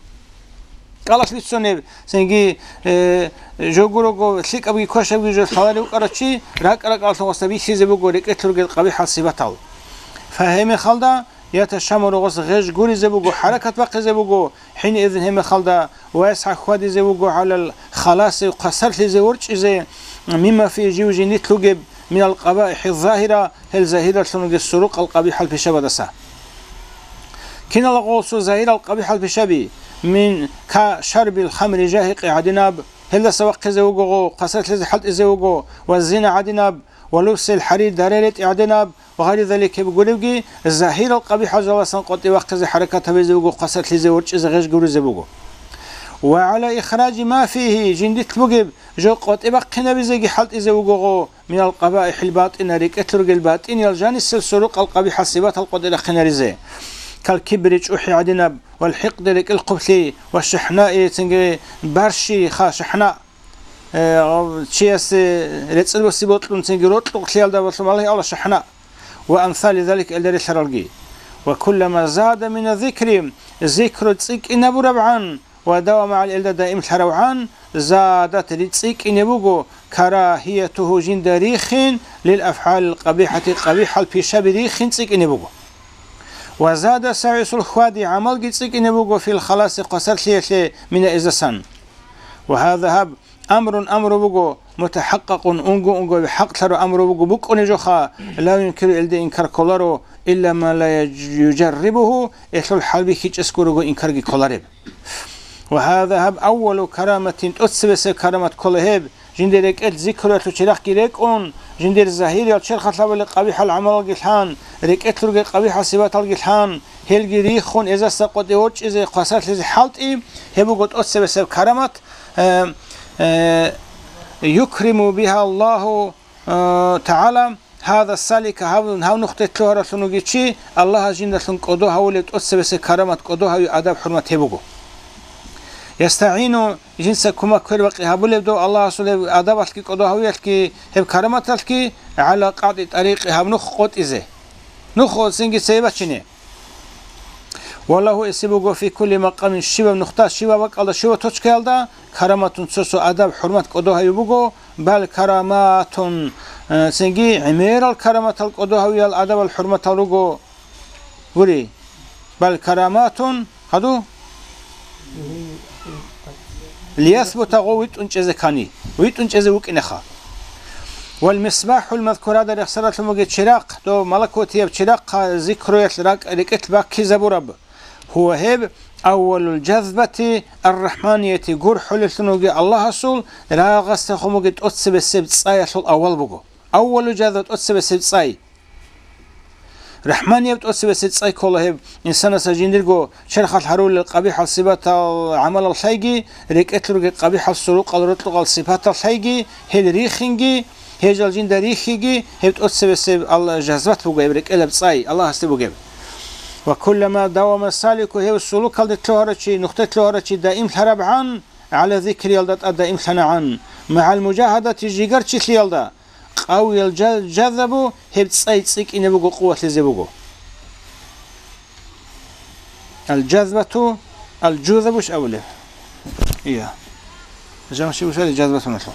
КӀалалъ бицунеб, цинги, э, жо гурого, лъикӀабги квешабги жо лъаларев вукӀарав чи, ракӀ-ракӀалъун гъосда бихьизе буго рекӀелъ ругел къабихӀал сибатал. Фа гьеб мехалда, яташаммару, гъос гъеж гуризе буго, хӀаракат бахъизе буго, хӀинизин гьеб мехалда, ва ясгӀа, хьвадизе вуго, гӀалал халаси, хвасарлъизе ворчӀизе, мимма фи, жив жиндилъ вугеб, минал къабаихӀи загьира, гьел загьиралъун вугес сурукъал къабихӀал пишабадаса. Кинал гъосул загьирал къабихӀал пишаби, мин ка шарбил хамри, жагьикъи гӀадинаб, гьелдаса вахъизе вуго гъо, хвасарлъизе хӀалтӀизе вуго, ва зина гӀадинаб, ва лубсил хӀарир, дарай ретӀи гӀадинаб, ва гъайри залик, гьеб гуребги, загьирал къабихӀал жаласан къватӀи вахъизе хӀаракат гьабизе вуго, хвасарлъизе ворчӀизе гъеж гуризе буго. Ва гӀала ихражи ма фигьи, жиндилъ бугеб жо къватӀи бахъинабизеги хӀалтӀизе вуго гъо, минал къабаихӀил батӀина, рекӀелъ ругел батӀиниял жанисел сурукъал къабихӀал сибатал къватӀи рахъинаризе, кал кибри, чӀухӀи гӀадинаб, вал хӀикъди, рекӀел хъублъи, ва шахӀнаи, цинги барщи, ха, шахӀна, э, чиясе рецӀел боси бокьун, цинги рокьукълъиялда балъун балагьи авла шахӀна, ва амсали залик, гьелда релълъаралги. Ва куллама зада мина зикри, зикру цӀикӀкӀинабурабгӀан, ва давама гӀал, гьелда даимлъаравгӀан, задат, цӀикӀкӀине буго, карагьиятугьу, жинда рихин, лил афгӀалил къабихӀати, къабихӀал пишаби рихин цӀикӀкӀине буго. Ва зада сагӀисул хьвади, гӀамалги цӀикӀкӀине буго, фил халаси, хвасарлъиялъе, мина эздасан. Ва гьаза, гьаб, амрун, амру буго, мутахӀакъакъун, унго-унго хӀакълъараб амру буго, букӀунеб жоха, ла юнкиру, гьелде инкар кколаро, илла ман ла южаррибугьу, гьелъул хӀалбихьичӀес гурого инкарги кколареб. Ва гьаза, гьаб, аввалу караматин, тӀоцебесеб карамат ккола гьеб, жиндир рекӀелъ зикруялъул чирахъги рекӀун, жиндир загьириял черхалъ гьабулел къабихӀал гӀамалалги лъан, рекӀелъ ругел къабихӀал сипаталги лъан, гьелги риххун, эздаса къватӀи ворчӀизе, хвасарлъизе хӀалтӀи, гьеб буго тӀоцебесеб карамат, э, э, юкриму бигьа Аллагьу, э, тагӀала гьаза салика, гьав, гьав нухде лъугьаралъун вугев чи, Аллагьас жиндалъун кӀодо гьавулеб тӀоцебесеб карамат, кӀодо гьавияб адаб-хӀурмат гьеб буго. ЯстагӀину, жинца кумек квербакъи гьабулеб дов Аллагьасул гьеб адабалъги кӀодо гьавиялъги гьеб караматалъги, гӀала къатӀи тӀарикъи, гьаб нух къотӀизе. Нух цинги цебе бачине. Валлагьу, эсеб буго, фи кулли макъамин, щибаб нухда, щибаб бакӀалда, щибаб точкаялда караматун, цо-цо адаб-хӀурмат кӀодо гьавияб буго, Бал караматун, э, цинги гӀемерал караматал кӀодо гьавиял адабал хӀурматал руго. Гури, бал караматун, гьаду? Лиясбута гъов витӀун чӀезе ккани, витӀун чӀезе вукӀинеха. Вал мисбахӀул мазкурада рехсаралъун бугеб чирахъ, дов малакутияб чирахъа зикруялъ ракӀ-, рекӀелъ баккизабураб. Гьува гьеб аввалул жазбати аррахӀманияти гурхӀулеллъун вугев Аллагьасул рагъасдехун бугеб тӀоцебесеб цӀаялъул авал буго. Аввалул жазба тӀоцебесеб цӀай. РахӀманияб тӀоцебесеб цӀай ккола гьеб, инсанасда жиндирго черхалъ гьарулел къабихӀал сипатал гӀамалал лъайги, рекӀелъ ругел къабихӀал сурукъал рокьукъал сипатал лъайги, гьел рихинги, гьел жал жинда рихиги, гьеб тӀоцебесеб Аллагь жазбат буго, гьеб рекӀелаб цӀай Аллагьасде бугеб. Ва куллама давама салику, гьев сулукалде лъугьарав чи, нухде лъугьарав чи даимлъарабгӀан, гӀала зикриялда тӀад даимлъанагӀан, магӀал мужагьадати жигарчилъиялда, къавиял жа-, жазабу гьеб цӀай цӀикӀкӀине буго, къувалъизе буго. Ал-жазбату, ал-жузабуш абулеб. Ия. Жамши бушали жазбатуналъул.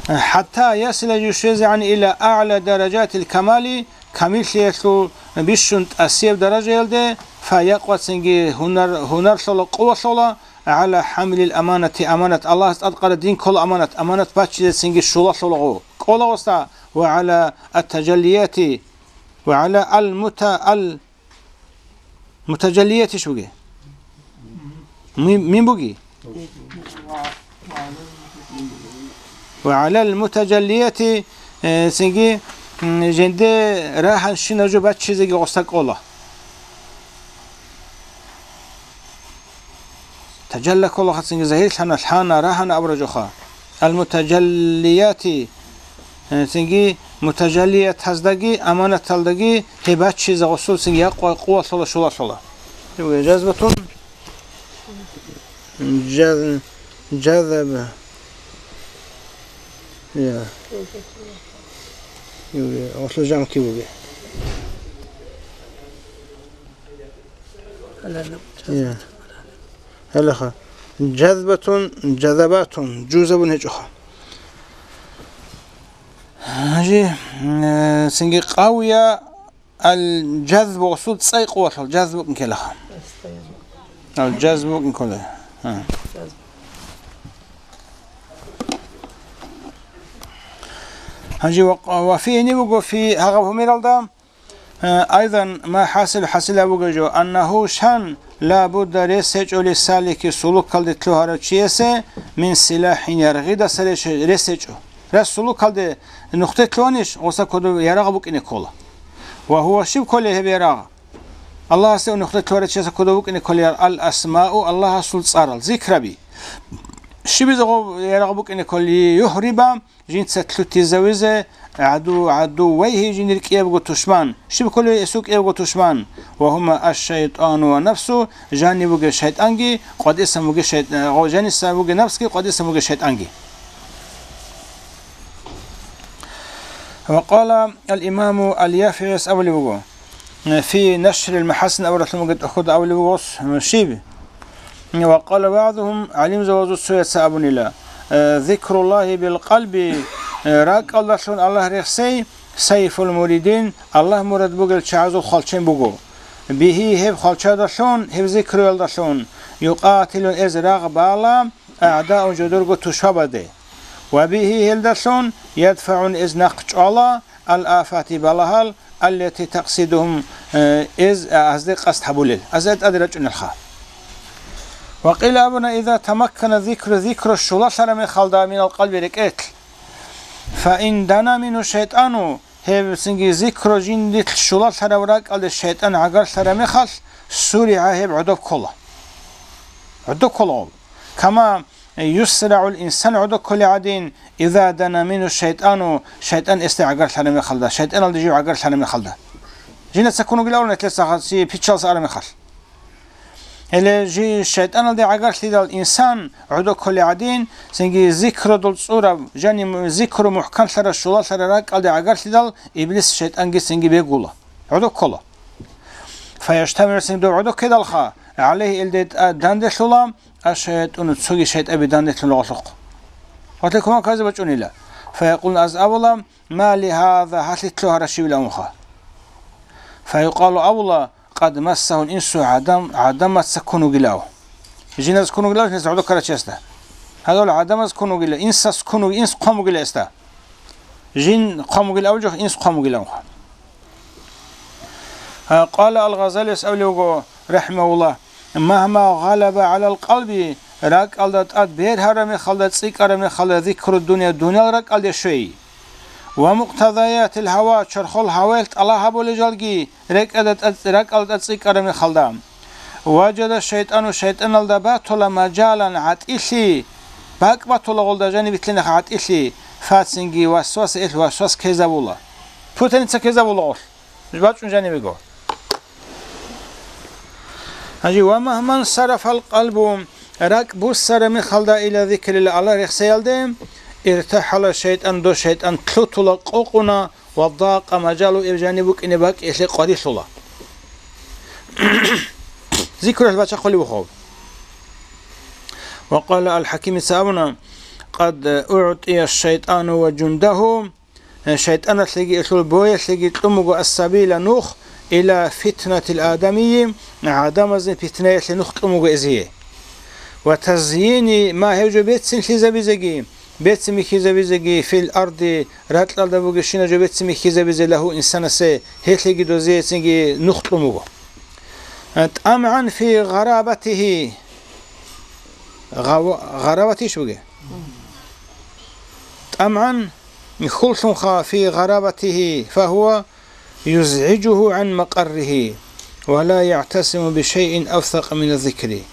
ХӀатта ясила жушезегӀан ила аъла даражатил камали, камиллъиялъул бищун тӀасияб даражаялде, фа якъвацинги гьунар-, гьунарлъула, къувалъула, гӀала хӀамлил аманати, аманат, Аллагьас тӀадкъараб дин ккола аманат, аманат баччизецинги щулалъулаго кӀола гъосда, ва гӀала ат-тажаллияти, ва гӀала ал-мута-, ал-мутажаллиятиш буги. Ми-, мин буги? Ва гӀалал мутажаллияти, э, цинги, м, жинде рагьанщинаб жо баччизеги гъосда кӀола. Тажалла ккола хацинги загьирлъана, лъана, рагьана абура жоха. Ал-мутажаллияти, э, цинги мутажаллиятаздаги аманаталдаги гьеб баччизе гъосул цинги якъва къувалъула, щулалъула. Жазбатун, жаз-, жазаба. Я. Юре, гъосул жамки буге. Гьале. Гьелеха. Жазбатун, жазабатун, жузабун гьечӀоха. Гьанже, э, цинги къавия ал-жазбу гъосул цӀай къувалъул, жазбу букӀин ккелаха. Ал-жазбу букӀин ккола. Гьа. Гьанже ва, ва фи гьениб буго фи гьагъаб гьумералда, Э, айдан ма хӀасил, хӀасил абуге жо, аннагьу шан, ла будда рес гьечӀо лисалики сулукалде лъугьарав чиясе, мин силахӀин яргъидаса рес, рес гьечӀо. Рас сулукалде нухде лъугьанищ, гъоса кодов ярагъ букӀине ккола. Ва гьува щиб кколей гьеб ярагъ? Аллагьасе нухде лъугьарав чияса кодов букӀине кколей ал-асмау, Аллагьасул цӀарал, зикраби. Щибизе гъов ярагъ букӀине кколей? Юхриба, жинца лъутизавизе, гӀаду-, гӀадуввайгьи жиндир кӀиябго тушман, щиб кколей гьесул кӀиябго тушман, ва гьума аш-шайтӀану ва нафсу, жанив вугев шайтӀанги, къватӀисан вугев шайт-, гъо-, жанисан вугев нафсги, къватӀисан вугев шайтӀанги. Ва къала ал-имаму ал-ЯфигӀис абулеб буго, фи Нашрил МахӀасин абуралъун бугеб тӀохьуда абулеб буго, щиб? Ва къала багӀдухум, гӀалимзабазул цояца абунила, э, зикруллагьи бил къалби, э, ракӀалдалъун Аллагь рехсей, сайфул муридин, Аллагь мурад бугел чагӀазул хвалчен буго. Бигьи, гьеб хвалчадалъун, гьеб зикруялдалъун, юкъатилун, эз рагъ бала, агӀдаун, жодорго тушбабазде. Ва бигьи, гьелдалъун, ядфагӀун, эз нахъ чӀвала, ал-афати, балагьал, аллати такъсидугьум, э, эз, а, азде къасд гьабулел, азде тӀаде рачӀунелха. Ва къила абуна, иза тамаккана зикру, зикру щулалъараб мехалда, минал къалби, рекӀелъ, фа ин дана мингьу шайтӀану, гьеб цинги зикру жиндилъ щулалъараб ракӀалде шайтӀан гӀагарлъараб мехалъ, суригӀа, гьеб гӀодоб ккола. ГӀодоб ккола гъоб. Кама юсрагӀул инсан, гӀодоб кколей гӀадин, иза дана мингьу шайтӀану, шайтӀан эсде гӀагарлъараб мехалда, шайтӀаналде жив гӀагарлъараб мехалда. Жинда цакун вугилан нилъеца хасси пичалса араб мехалъ. Гьеле жи шайтӀаналде гӀагарлъидал инсан гӀодоб кколей гӀадин, цинги зикрудул цӀураб, жани му-, зикру мухӀканлъараб, щулалъараб ракӀалде гӀагарлъидал, иблис шайтӀанги цинги бегула. ГӀодоб ккола. ФаяжтамигӀу, цинги доб гӀодоб ккедалха, гӀалайгьи, элде тӀа-, данделъула, аш-шаятӀуну, цоги шайтӀаби данделъула гъолъухъ. Гъорлъе кумек гьабизе бачӀунила. Фаякъулун, аз абула: «Ма ли гьаза, гьалъи лъугьарав щивилавунха?» Фаюкъалу, абула: «Къад массагьул инсу», гӀадам, гӀадамаца ккун вугилав. Жиназ ккун вугилав, жиназ гӀодор ккарав чиясда. Гьадал гӀадамаз ккун вугила, инсас ккун вуги-, инс хъван бугила гьесда. Жин хъван бугилав жо, инс хъван бугилавха. А, къала ал-Гъазалияс абулев вуго, рахӀимагьуллагь: «Магьма гъалаба гӀалал къалби», ракӀалда тӀад бергьараб мехалда, цӀикӀкӀараб мехалда, зикру дунья, дуниял ракӀалде щвей. «Ва мукътазаятил гьава», чорхол гьаваялъ тӀалаб гьабулел жалги рекӀада тӀад-, ракӀалда тӀад цӀикӀкӀараб мехалда. «Важада шайтӀану», шайтӀаналда батула «мажалан», гӀатӀилъи, бакӀ батула гъолда жаниб битӀилаха гӀатӀилъи, фацинги васвас, ил васвас ккезабула. Путаница ккезабула гъолъ. Нуж бачӀун жанибего. Гьанже: «Ва магьман сарафал къалбу», ракӀ буссараб мехалда, «ила зикрилла», Аллагь рехсеялде, «иртахӀала шайтӀан», дов шайтӀан лъутула, къокъуна, «ва дакъа мажалу», иб жаниб букӀине бакӀ илъе къварилъула. Зикрулъ бачахъулев вухав. Ва къала ал-ХӀакимица абуна: «Къад угӀтӀия шайтӀану ва жундагьу», Э, шайтӀаналъеги, элъул боялъеги кьун буго ас-сабила нух, ила фитнатил адамийи, гӀадамазин питнаялъе нух кьун буго эзие. Ва тазйини ма, гьев жо бецинлъизабизеги, бецин бихьизабизеги, фил арди, ракьалда бугебщинаб жо бецин бихьизабизе, лагьу, инсанасе, гьелъеги дозиецинги нух кьун буго. Э, тӀамгӀан фи гъарабатихи. Гъава-, гъарабатищ бугеб? ТӀамгӀан хьуллъунха фи гъарабатихи, фагьува юзгӀижугьу гӀан макъаррихи, ва ла ягӀтасиму бишайин авсакъа мина зикри.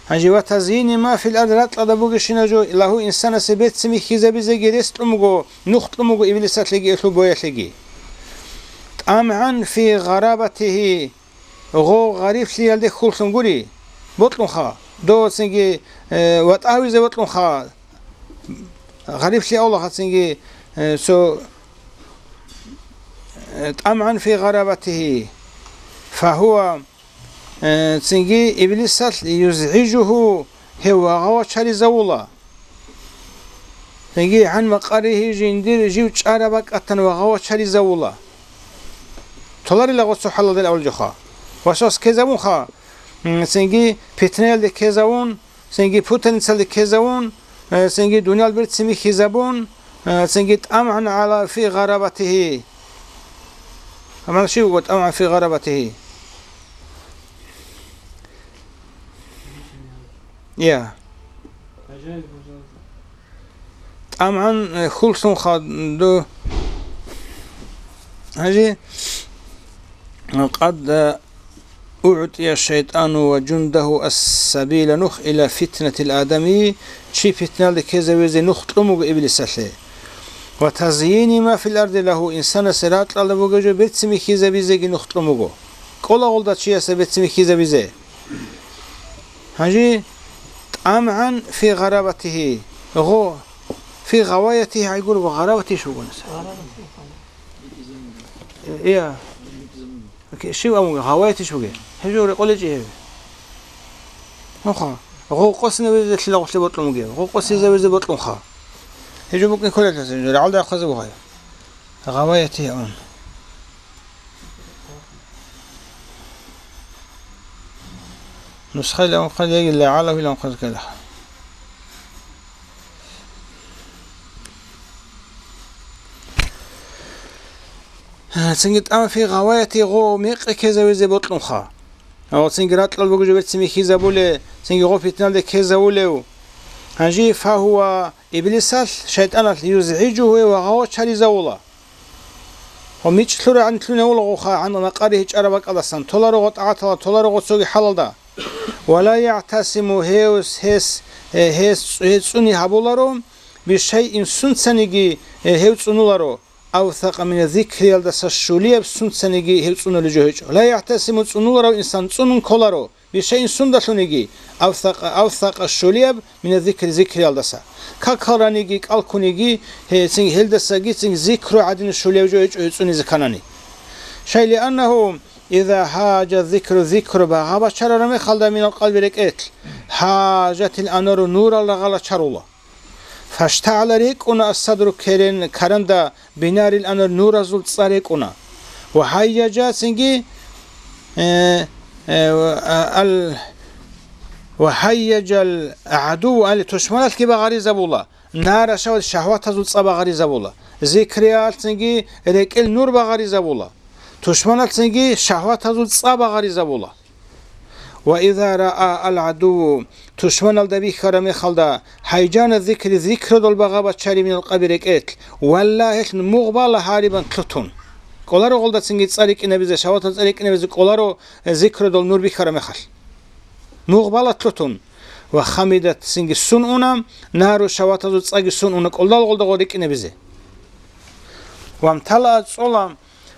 Гьанже ва тазйини ма фил ард, ракьалда бугебщинаб жо, лагьу, инсанасе бецин бихьизабизеги рес кьун буго, нух кьун буго иблисалъеги элъул боялъеги. ТӀамгӀан фи гъарабатихи, гъо, гъариблъиялде хьуллъун гури, бокьунха, дов цинги, э, ватӀа гьавизе бокьунха, гъариблъи авлахъа цинги, э, цо, э, тӀамгӀан фи гъарабатихи, фагьува, э, цинги иблисалъ юзгӀижугьу, гьев вагъа вачаризавула. Цинги гӀан макъаррихи, жиндир жив чӀараб бакӀалдасан вагъа вачаризавула. Толарила гъоцо хӀалалдал авлахъа. Васвас ккезабунха, м, цинги питнаялде ккезавун, цинги путаницалде ккезавун, э, цинги дуниял берцин бихьизабун, э, цинги тӀамгӀан гӀала фи гъарабатихи. Амма щив вуго тӀамгӀан фи гъарабатихи? Я. ТӀамгӀан, э, хьуллъунха дов. Гьанже, къад, э, угӀтӀия шайтӀану ва жундагьу ас-сабила нух ила фитнатил адамийи, чи питналде ккезавизе нух кьун буго иблисалъе. Ва тазйини ма фил арди лагьу, инсанасе ракьалда бугеб жо бецин бихьизабизеги нух кьун буго. КӀолагъулда чиясе бецин бихьизабизе. Гьанже тӀамгӀан фи гъарабатихи. Гъо, фи гъаваятихи гӀайгур ва гъарабатищ вугониса. Ия. Окей, щив абун, гъаваятищ вуге? Гьеб жо рекъолечӀи гьеб. Нуха, гъо къосинавизе лъила гъолъе бокьун бугеб? Гъо къосизавизе бокьунха. Гьеб жо букӀин кколелъас, гьеб жо рагӀалда рахъазе бугъай. Гъаваятихи абун. Нусхаялъ абун хъалиягилла, гӀалавилан хъазкъала. Цинги тӀамгӀан фи гъаваятихи, гъо мекъи ккезавизе бокьунха. Ва цинги ракьалда бугеб жо бецин бихьизабулев, цинги гъо питналде ккезавулев. Гьанже фагьува, иблисалъ, шайтӀаналъ, юзгӀижугьу, гьев вагъа вачаризавула. Ва мичӀ лъурагӀан лъуневулагъуха гӀан макъаррихи, чӀараб бакӀалдасан, толаро гъо тӀагӀаталда, толаро гъо цоги хӀалалда. Ва ла ягӀтасиму, гьев, гьес, э, гьес, гьес цӀуни гьабуларо, бишайин, сунцаниги, э, гьев цӀунуларо, авсакъа мина зикриялдаса щулияб сунцаниги гьев цӀунулев жо гьечӀо. Ла ягӀтасиму, цӀунуларав инсан цӀунун кколаро, бишайин сундалъуниги, авсакъа, авсакъа щулияб мина зикри, зикриялдаса. Какал раниги, кӀал ккуниги, гьецин гьелдасагицин зикру гӀадин щулев жо гьечӀо гьев цӀунизе кканани. Шай, лианнагьу иза гьажа зикру, зикру багъа бачарараб мехалда минал къалби рекӀелъ, гьажатил анвару, нурал рагъала чарула. ФаштагӀала рекӀуна ас-садру керен каранда бинарил анар нуразул цӀа рекӀуна. Ва гьайяжа цинги, э, э, ал-, ва гьайяжал гӀадуву али тушманалъги багъаризабула, нара шагьват-, шагьватазул цӀа багъаризабула. Зикриялъ цинги рекӀел нур багъаризабула. Тушманалъ цинги шагьватазул цӀа багъаризабула. Ва иза раа ал-гӀадувву, тушманалда бихьараб мехалда, гьайжана зикри, зикрудал багъа бачари минал къаби рекӀелъ, валла гьелъ мугъ бала гьарибан лъутун. КӀоларо гъолдацинги цӀа рикӀинабизе, шагьватал цӀа рикӀинабизе кӀоларо, э, зикрудал нур бихьараб мехалъ. Мугъ бала лъутун. Ва хамидат цинги сун уна, нару шагьватазул цӀаги сун уна кӀолдал гъолда гъо рикӀинабизе. Вамтала цӀола,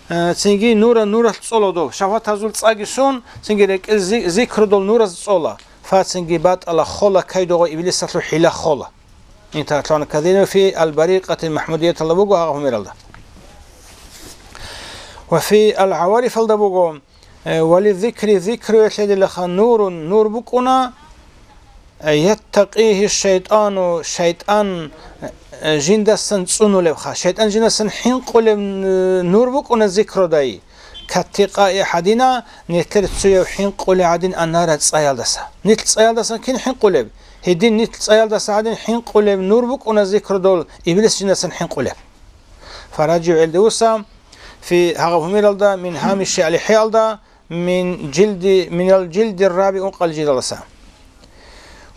э, цинги нура нуралъ цӀола дов, шагьватазул цӀаги сун, цинги рекӀел зи-, зикрудал нураз цӀола, фа цинги батӀала хола кайдогъо иблисалъул хӀила хола. Интахъан казино фи ал-барикъатил махмудияталда буго гьагъа гьумералда. Ва фи ал-гӀаварифалда буго, э, вали зикри, зикру яхӀедилаха нурун, нур букӀуна, яттакъигьи шайтӀану, шайтӀан, э, жиндасан цӀунулебха. ШайтӀан жиндасан хӀинкъулеб, э, нур букӀуна зикрудай. Каттикъаи гьадина, нилъер цуяв хӀинкъулеб гӀадин анара цӀаялдаса. Нилъ цӀаялдасан кин хӀинкъулеб? Гьедин нилъ цӀаялдаса гӀадин хӀинкъулеб нур букӀуна зикрудул, иблис жиндасан хӀинкъулеб. Фаражигьу гӀелдевуса, фи гьагъаб гьумералда, мин гьамиши алихӀиалда, мин жилди, минал жилди раби ункъал жидаласа.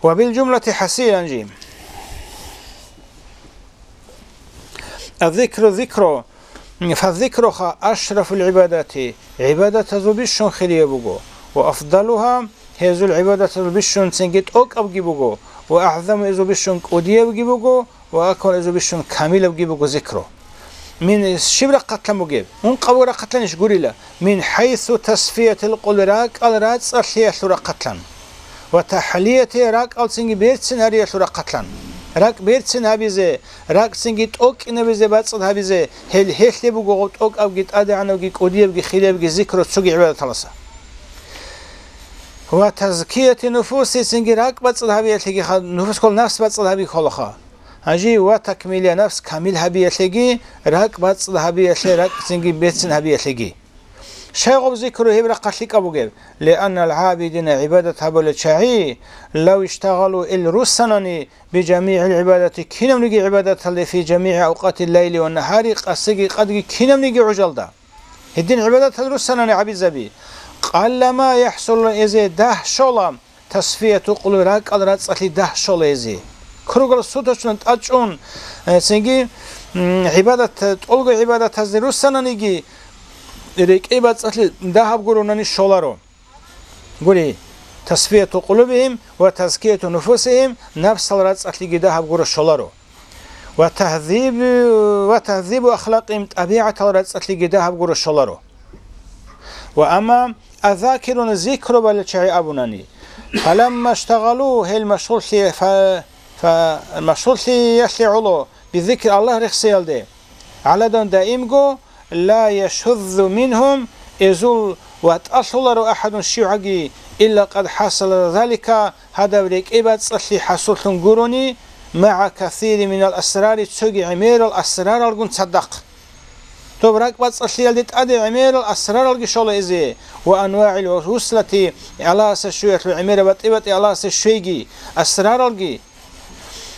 Ва бил жумлати хӀасилан жи. Аззикру зикру, фаззикруха ашрафул гӀибадати, гӀибадатазул бищун хирияб буго, ва афдалуха, гьезул гӀибадатазул бищун цинги тӀокӀабги буго, ва агӀзаму, гьезул бищун кӀудиябги буго, ва акмал, гьезул бищун камилабги буго зикру. Мин щиб рахъалъан бугеб? Ункъабго рахъалъанищ гурила? Мин хӀайсу тасфиятил къулби, ракӀал рацӀцӀалъиялъул рахъалъан. Ва тахӀлияти, ракӀалцинги берцин гьариялъул рахъалъан. РакӀ берцин гьабизе, ракӀцинги тӀокӀинабизе, бацӀцӀад гьабизе, гьел гьелъе буго гъоб тӀокӀабги, тӀадегӀанабги, кӀудиябги, хириябги зикру цоги гӀибадаталаса. Ва тазкияти нуфуси, цинги ракӀ бацӀцӀад гьабиялъеги ха-, нуфус ккола, нафс бацӀцӀад гьаби кколаха. Гьанже ва такмилия нафс, камил гьабиялъеги, ракӀ бацӀцӀад гьабиялъе, ракӀцинги берцин гьабиялъеги. Щай гъоб зикру гьеб рахъалъ лъикӀаб бугеб? Лианнал гӀабидина, гӀибадат гьабулел чагӀи, лав иштагъалу, ил руссанани, бижамигӀил гӀибадати, кинабниги гӀибадаталде, фи жамигӀи авкъатил лайли ва нагьари, къасиги къадги кинабниги гӀужалда. Гьедин гӀибадатал руссанани гьабизаби. Къаллама яхӀсулу, эзе дагь щола, тасфияту къулуби, ракӀал рацӀцӀалъи дагь щола эзе. Круглосуточно тӀадчӀун, э, цинги, м, гӀибадат, тӀолго гӀибадатазде руссананиги, рекӀей бацӀцӀалъи дагьаб гуронани щоларо. Гури, тасфияту къулубихим ва тазкияту нуфусихим, напсал рацӀцӀалъиги дагьаб гуро щоларо. Ва тагьзибу, ва тагьзибу ахлакъим, тӀабигӀатал рацӀцӀалъиги дагьаб гуро щоларо. Ва амма аззакируна, зикру балел чагӀи абунани, фаламма иштагъалу, гьел машгъуллъи-, фа-, фа-, машгъуллъиялъе гӀоло, бизикри, Аллагь рехсиялде, гӀаладан даимго, ла яшуззу мингьум, эзул ватӀалъуларо ахӀадун щивгӀаги, илла къад хӀасала залика, гьадаб рекӀей бацӀцӀалъи хӀасуллъун гурони, магӀа касири минал асрари, цоги гӀемерал асраралгун цадахъ. Доб ракӀ бацӀцӀалъиялде тӀаде гӀемерал асраралги щола эзе, ва анвагӀил вуслати, Аллагьасе щвеялъул гӀемераб батӀи-батӀи Аллагьасе щвейги, асраралги.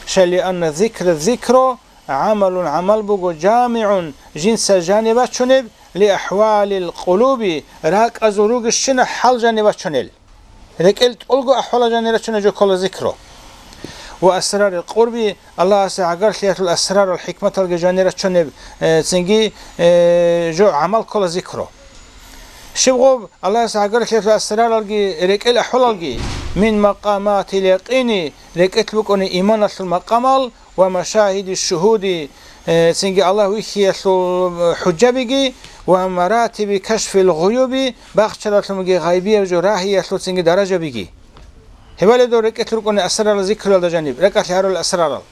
Шалли анна зикра, зикру, гӀамалун, гӀамал буго, жамигӀун, жинца жаниб бачунеб, ли ахӀвалил къулуби, ракӀазул ругищина хӀал жаниб бачунел. РекӀел тӀолго ахӀвалал жанир рачунеб жо ккола зикру. Ва асрарил къурби, Аллагьасе гӀагарлъиялъул асрарал хӀикматалги жанир рачунеб, э, цинги, э, жо гӀамал ккола зикру. Щиб гъоб Аллагьасе гӀагарлъиялъул асраралги рекӀел ахӀвалалги, мин макъаматил якъини, рекӀелъ букӀуни иманалъул макъамал, ва машагьиди шугьуди, э, цинги Аллагь вихьиялъул, э, хӀужабиги, ва маратиби кашфил гъуюби, бахчаралъунги гъайбияб жо рагьиялъул цинги даражабиги. Гьебали дов рекӀелъ рукӀуни асрарал зикруялда жаниб, ракӀалъ гьарул асрарал.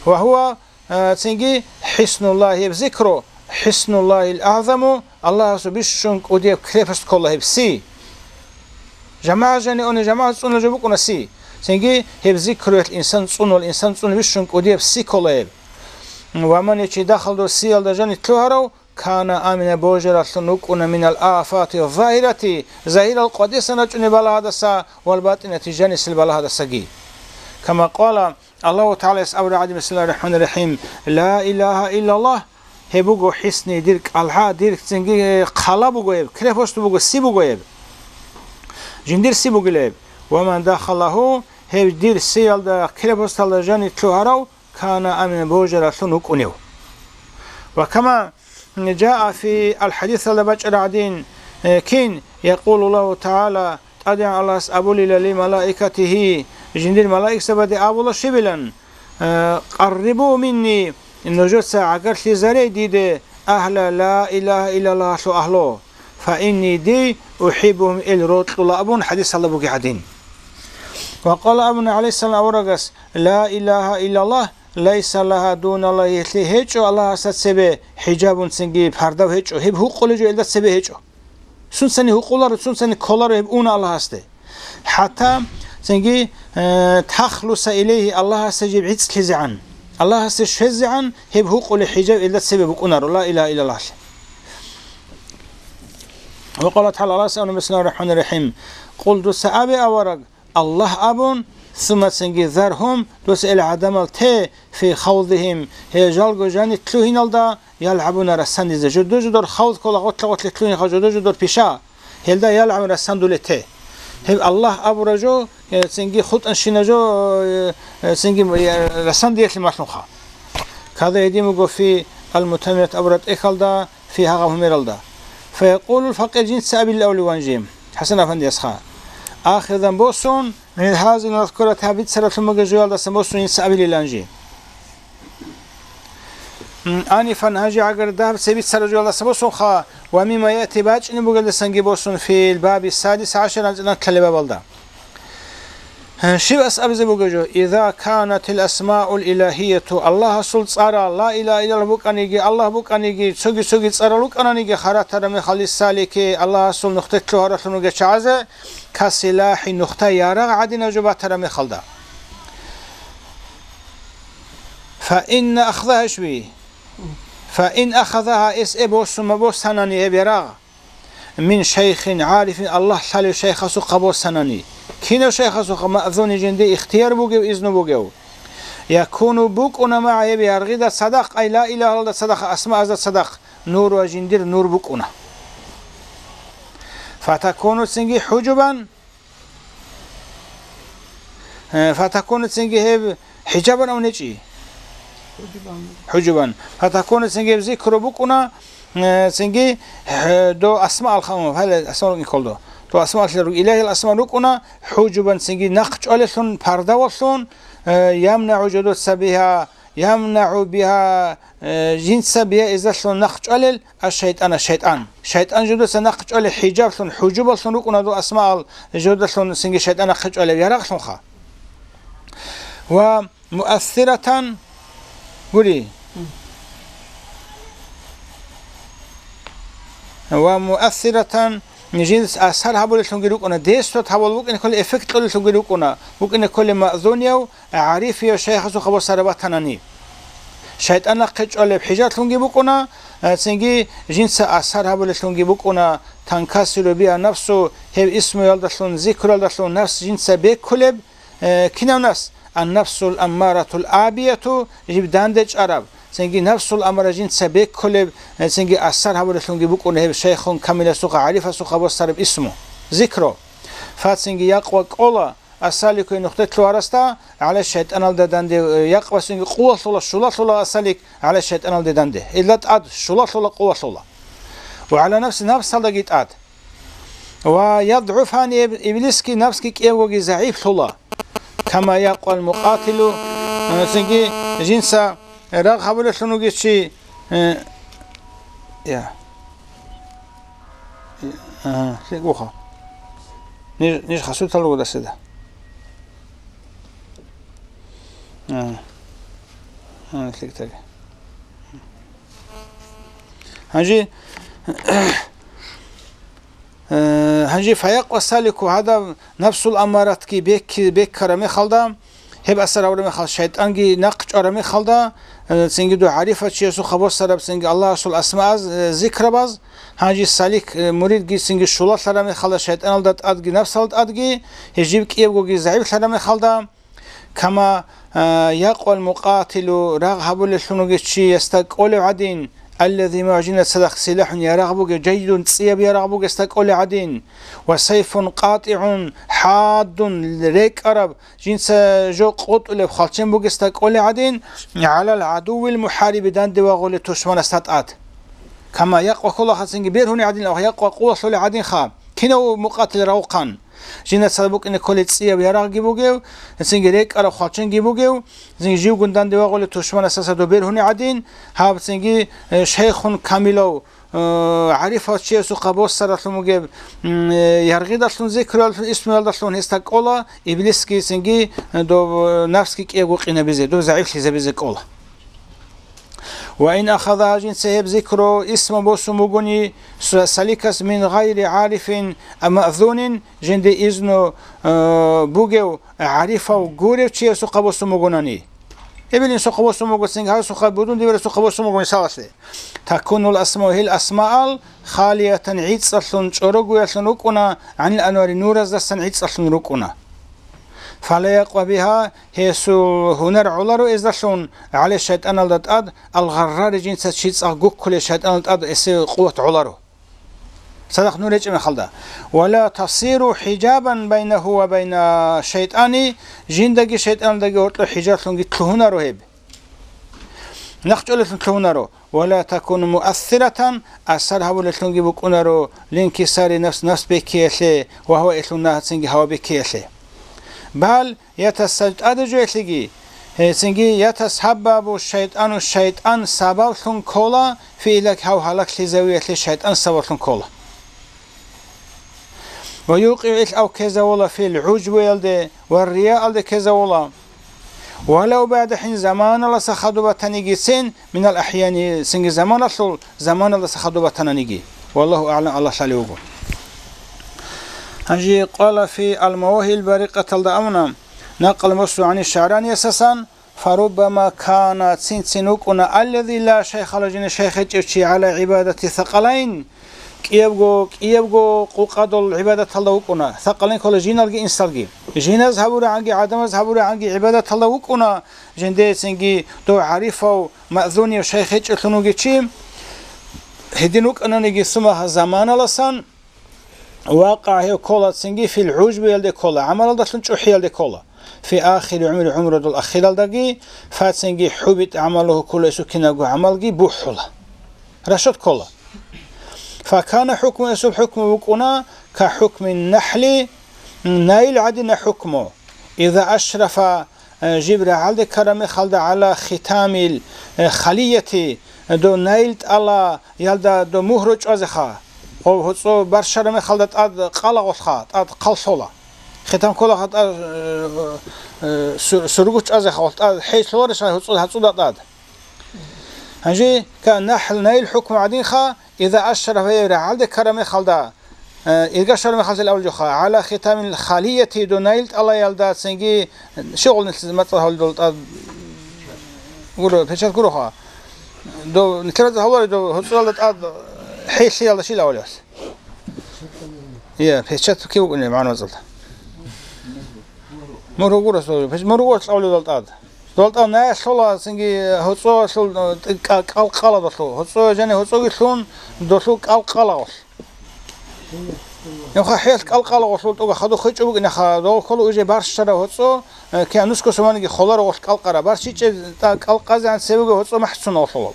Ва гьува, э, цинги хӀиснуллагьи, гьеб зикру, хӀиснуллагьил агӀзаму, Аллагьасул бищун кӀудияб крепость ккола гьеб си. ЖамагӀат жани уни, жамагӀат цӀунула жо букӀуна си. Цинги гьеб зикруялъ инсан цӀунул, инсан цӀунул бищун кӀудияб си ккола гьеб. Ва ман, чи дохал дов сиялда жанив лъугьарав, кана амина, божараллъун вукӀуна, минал афати загьирати, загьирал къватӀисан рачӀунеб балагьадаса, вал батӀинати, жанисел балагьадасаги. Кама къала Аллагьу ТагӀалаяс абураб гӀадин, бисмиллагьир рахӀманир рахӀим, ла илагьа иллаллагь, гьеб буго хӀисни, дир кӀалгӀа, дир цинги хъала буго гьеб, крепость буго, си буго гьеб. Жиндир си бугила гьеб. Ва ман дахалагьу, гьеб дир сиялда, крепосталда жанив лъугьарав, кана амина, божараллъун вукӀунев. Ва кама жаа фи ал-хӀадисалда бачӀараб гӀадин, э, кин, якъулу Аллагьу ТагӀала, ТӀадегӀан Аллагьас абулила ли малаикатигьи, жиндир малаикзабаде абула щибилан, э, къаррибу минни, нужеца гӀагарлъизаре диде, агьла ла илагьа иллаллагьалъул агьлу, фа инни, дий, ухӀиббугьум, ил рокьула абун хӀадисалда бугеб гӀадин. Ва къала, абуна гӀалайгьиссалам аварагас, ла илагьа иллаллагь, лайса лагьа дуналлагьи, гьелъие гьечӀо Аллагьасда цебе хӀижабун, цинги пардав гьечӀо, гьеб гьукъулеб жо элда цебе гьечӀо. Сунцани гьукъуларо, сунцани кколаро гьеб уна Аллагьасде. ХӀатта цинги, э, тахлуса илайгьи, Аллагьасда жиб гӀицӀлъизегӀан, Аллагьасде щвезегӀан гьеб гьукъулеб хӀижаб элда цебе букӀунаро, ла илагьа иллаллагьалъе. Ва къала тагӀала, Аллагьас абуна, бисмиллагьир рахӀманир рахӀим, къул, дуца абе, авараг, Аллагь абун, сумма, цинги, заргьум, дуца ил гӀадамал те, фи хавдигьим, гьел жалго жанив лъугьиналда, ялгӀабуна, расандизе, жодор-жодор хавд ккола, гъотлъа-гъотлъи лъугьинха, жодор-жодор пиша, гьелда ялгӀабун расандулел те. Гьеб Аллагь абураб жо, э, цинги хутӀанщина жо, э, э, цинги, э, расандиялъе малъунха. Када гьедин буго фи ал-Мутаммимат абураб тӀехьалда, фи гьагъаб гьумералда. Фаякъулул факъир, жинца абилев ван жи, ХӀасан афандиясха. Ахирдан босун, мин гьазил мазкурат, гьаб бицаралъун бугеб жоялдасан босун жинца абилилан жи. М, анифан, гьанже гӀагар дагьаб цебе бицараб жоялдаса босунха, ва мимма яти, бачӀине бугелдасанги босун, фил баби садис гӀашар, анцӀила кколеб бабалда. Щиб ас абизе бугеб жо? Иза канатил асмаул илагьияту, Аллагьасул цӀарал, ла илагьа иллаллагь букӀаниги, Аллагь букӀаниги, цоги-цоги цӀарал рукӀананиги, харатара мехалис салики, Аллагьасул нухде лъугьаралъун ругел чагӀазе, касилахӀи, нухда ярагъ гӀадинаб жо батара мехалда. Фа инна ахзагьа, ишби? Фа ин ахазагьа, эс эб босун ма босанани гьеб ярагъ, мин шайхин гӀарифин, Аллагь лъалев шайхасухъа босанани. Кинав шайхасухъа? Маъзуни, жинде ихтияр бугев, изну бугев. Якуну, букӀуна, магӀа, гьеб яргъида цадахъ, ай ла илагьалда цадахъ, асмаазда цадахъ, нур, ва жиндир нур букӀуна. Фатакуну, цинги хӀужубан, Э, фатакуну, цинги гьеб хӀижабан абун гьечӀищ? ХӀужубан. ХӀужубан. Фатакуну, цинги гьеб зикру букӀуна, э, цинги, э, дов асмаал ханум, гьале асмаал рукӀин кколдо. Дов асмаал руг-, илагьиял асмаал рукӀуна, хӀужубан, цинги нахъ чӀвалелъун, пардаваллъун, э, ямнагӀу жодоца бигьа, ямнагӀу бигьа, э, жинца бигьа изалъун нахъ чӀвалел, аш-шайтӀана, шайтӀан. ШайтӀан жодоца нахъ чӀвалел хӀижаблъун, хӀужубаллъун рукӀуна дов асмаал, жодалъун цинги шайтӀан нахъе чӀвалеб ярагълъунха. Ва муассиратан, гури. Ва муассиратан, жинс асар гьабулеллъунги рукӀуна, действовать гьабул букӀине кколеб, эффект кьолеллъунги рукӀуна, букӀине кколеб маъзунияв, гӀарифияв шайхасухъа босараб батанани. ШайтӀан нахъе чӀвалеб хӀижаблъунги букӀуна, э, цинги жинца асар гьабулеллъунги букӀуна, танкасиру бигьа нафсу, гьеб исмуялдалъун, зикруялдалъун нафс жинца беккулеб, э, кинав нафс? Ан-нафсул аммаратул абияту, жиб данде чӀараб, цинги нафсул аммара жинца беккулеб, э, цинги асар гьабулеллъунги букӀуна гьеб шайхун камиласухъа, гӀарифасухъа босараб исму, зикру. Фа, цинги якъва кӀола, Ас-салику, нухде лъугьарасда, гӀалаш шайтӀаналда данде, э, якъбасунги къувалъула, щулалъула ас-салик гӀалаш шайтӀаналде данде. Илла тӀад щулалъула, къувалъула. Ва гӀала нафси, нафсалдаги тӀад. Ва ядгӀуфани, иб-, иблисги нафсги кӀевгоги загӀиплъула. Кама якъвал мукъатилу, э, цинги жинца рагъ гьабулеллъун вугев чи, э, я. Ага, лъикӀ буха. Ниж, ниж хасутал ругодаседа. Ага. Ага, лъикӀ таги. Гьанже, Э, гьанже фаякъва салику гьадаб нафсул аммаратги бекки-, беккараб мехалда, гьеб асар гьабураб мехалда, шайтӀанги нахъ чӀвараб мехалда, э, цинги дов гӀарифав чиясухъа босараб цинги Аллагьасул асмааз, э, зикрабаз, гьанже салик, э, муридги цинги щулалъараб мехалда шайтӀаналда тӀадги нафсалда тӀадги, гьеб жиб кӀиябгоги загӀиплъараб мехалда, Кама, а, якъвал мукъатилу, рагъ гьабулеллъун вугев чиясда кӀолев гӀадин, аллази, мугьажинат цадахъ силахӀун ярагъ бугев, жайдун цӀияб ярагъ бугесда кӀолев гӀадин, ва сайфун къатӀигӀун хӀаддун, рекӀараб, жинца жо къотӀулеб хвалчен бугесда кӀолев гӀадин, гӀалал гӀадувил мухӀариби, данде вагъулев тушманасда тӀад. Кама якъва ккола хацинги бергьунев гӀадин, якъва къувалъулев гӀадинха, кинав мукъатил равухъан. Жинда цадахъ букӀине кколей цӀияб ярагъги бугев, цинги рекӀараб хвалченги бугев, цинги живгун данде вагъулев тушманасда доб бергьунев гӀадин, гьаб цинги, э, шайхун камилав, э, гӀарифав чиясухъа босаралъун бугеб, м, э, яргъидалъун, зикруялъун, исмуялдалъун гьесда кӀола, иблисги цинги, э, доб, э, нафсги кӀиябго къинабизе, доб загӀиплъизабизе кӀола. Ва ин ахаза, гьажинца гьеб зикру исму босун бугони, са-, саликас мин гъайри гӀарифин маъзунин, жинде изну, э, бугев гӀарифав гурев чиясухъа босун бугонани. Эбел инсухъа босун буго, цинги гьасухъа будун дибирасухъа босун буго мисалалъе. Такунул асмау, гьел асмаал халиятан гӀицӀалъун, чӀорогоялъун рукӀуна, гӀанил анвари нураздасан гӀицӀалъун рукӀуна. Фала якъва бигьа, гьесул гьунар гӀоларо эздалъун, гӀале шайтӀаналда тӀад, алгъаррари жинца чи цӀакъ гуккулел шайтӀаналда тӀад эсул къуват гӀоларо. Цадахъ нур гьечӀеб мехалда. Вала тасиру хӀижабан байнаху ва байна шайтӀани, жиндаги шайтӀаналдаги гьоркьоб хӀижаблъунги лъугьунаро гьеб. Нахъ чӀолелъун лъугьунаро. Вала такуну муассиратан, асар гьабулеллъунги букӀунаро, линкисари нафс, нафс беккеялъе ва гьава элъун нагьацинги гьава беккеялъе. Бал ятасаб-, тӀаде жоялъеги, гьецинги ятасабабу шайтӀану, шайтӀан сабаблъун ккола, фи илагь, гьав гьалаглъизавиялъе шайтӀан сабаблъун ккола. Ва юкъигӀу, ил гьав ккезавула, фил гӀужбуялде ва риялде ккезавула. Валав баъда хӀин, заманаласа хадуб батанигицин, минал ахӀяни, цинги заманалъул, заманаласа хадуб батананиги. Валлагьу аъгӀлам, Аллагь лъалев вуго. Гьанже къала фи Ал-Мавагьибил Барикъаталда абуна, накъал муслу гӀани ШагӀраниясасан, фаруббама кана, цин-цин вукӀуна, аллази ла шайха лагьу, жиндир шайх гьечӀев чи, гӀала гӀибадати сакъалайн, кӀиябго, кӀиябго къукъадул гӀибадаталда вукӀуна, сакъалайн ккола жиналги инсалги. Жиназ гьабурагӀанги, гӀадамаз гьабурагӀанги гӀибадаталда вукӀуна, жиндецинги дов гӀарифав, маъзунив шайх гьечӀелъун вугев чи, гьедин вукӀананиги, сумма, заманаласан, вакъа, гьев кколацинги, фил гӀужбуялде ккола, гӀамалалдалъун чӀухӀиялде ккола. Фи ахири гӀумри, гӀумрудул ахиралдаги, фацинги хӀубит гӀамалу, гьуккула гьесул кинабго гӀамалги бухӀула. Рашот ккола. Факана хӀукму, гьесул хӀукму букӀуна, ка хӀукми нахӀли, наил гӀадина хӀукму. Иза ашрафа, э, жиб рагӀалде ккараб мехалда, гӀала хитамил, э, халияти, э, дов наил тӀалаялда дов мугьру чӀвазеха. Гъов гьоцӀо барщараб мехалда тӀад къалагъулха, тӀад хъаллъола. Хитам кколаха тӀад, э, э, сур-, сургу чӀвазеха, гъолъ тӀад хӀей лъоларищ гьоцӀо гьацӀуда тӀад. Гьанже ка нахӀл, наил хӀукму гӀадинха, иза ашрафа, гьев рагӀалде ккараб мехалда, э, ирга щвараб мехалъил авлуха, гӀала хитамил халияти, дов наил тӀалаялда цинги, щивгъул нилъ мацӀал гьавлидал тӀад гуро, печать гуроха. Дов нилъер мацӀал гьавлари, дов гьоцӀоялда тӀад хӀей лъиялда щил авлияс? Я, печать кив вукӀунеб магӀна мацӀалда? Мугьру гуро, печ-, мугьру гуро авлидал тӀад. ДолтӀа наялъула цинги гьоцӀоялъул, э, кӀа-, кӀалкъаладалъул. ГьоцӀо жани гьоцӀоги лъун, долъул кӀалкъалагъулъ. Нуха хӀел кӀалкъалагъулъул тӀуга хадуб хвечӀо букӀинаха, дов ккола уже барщараб гьоцӀо, э, кигӀан нусго суманиги холарогъулъ кӀалкъараб. БарщичӀеб тӀа кӀалкъазегӀан цебеги гьоцӀо махӀцун гъолъула.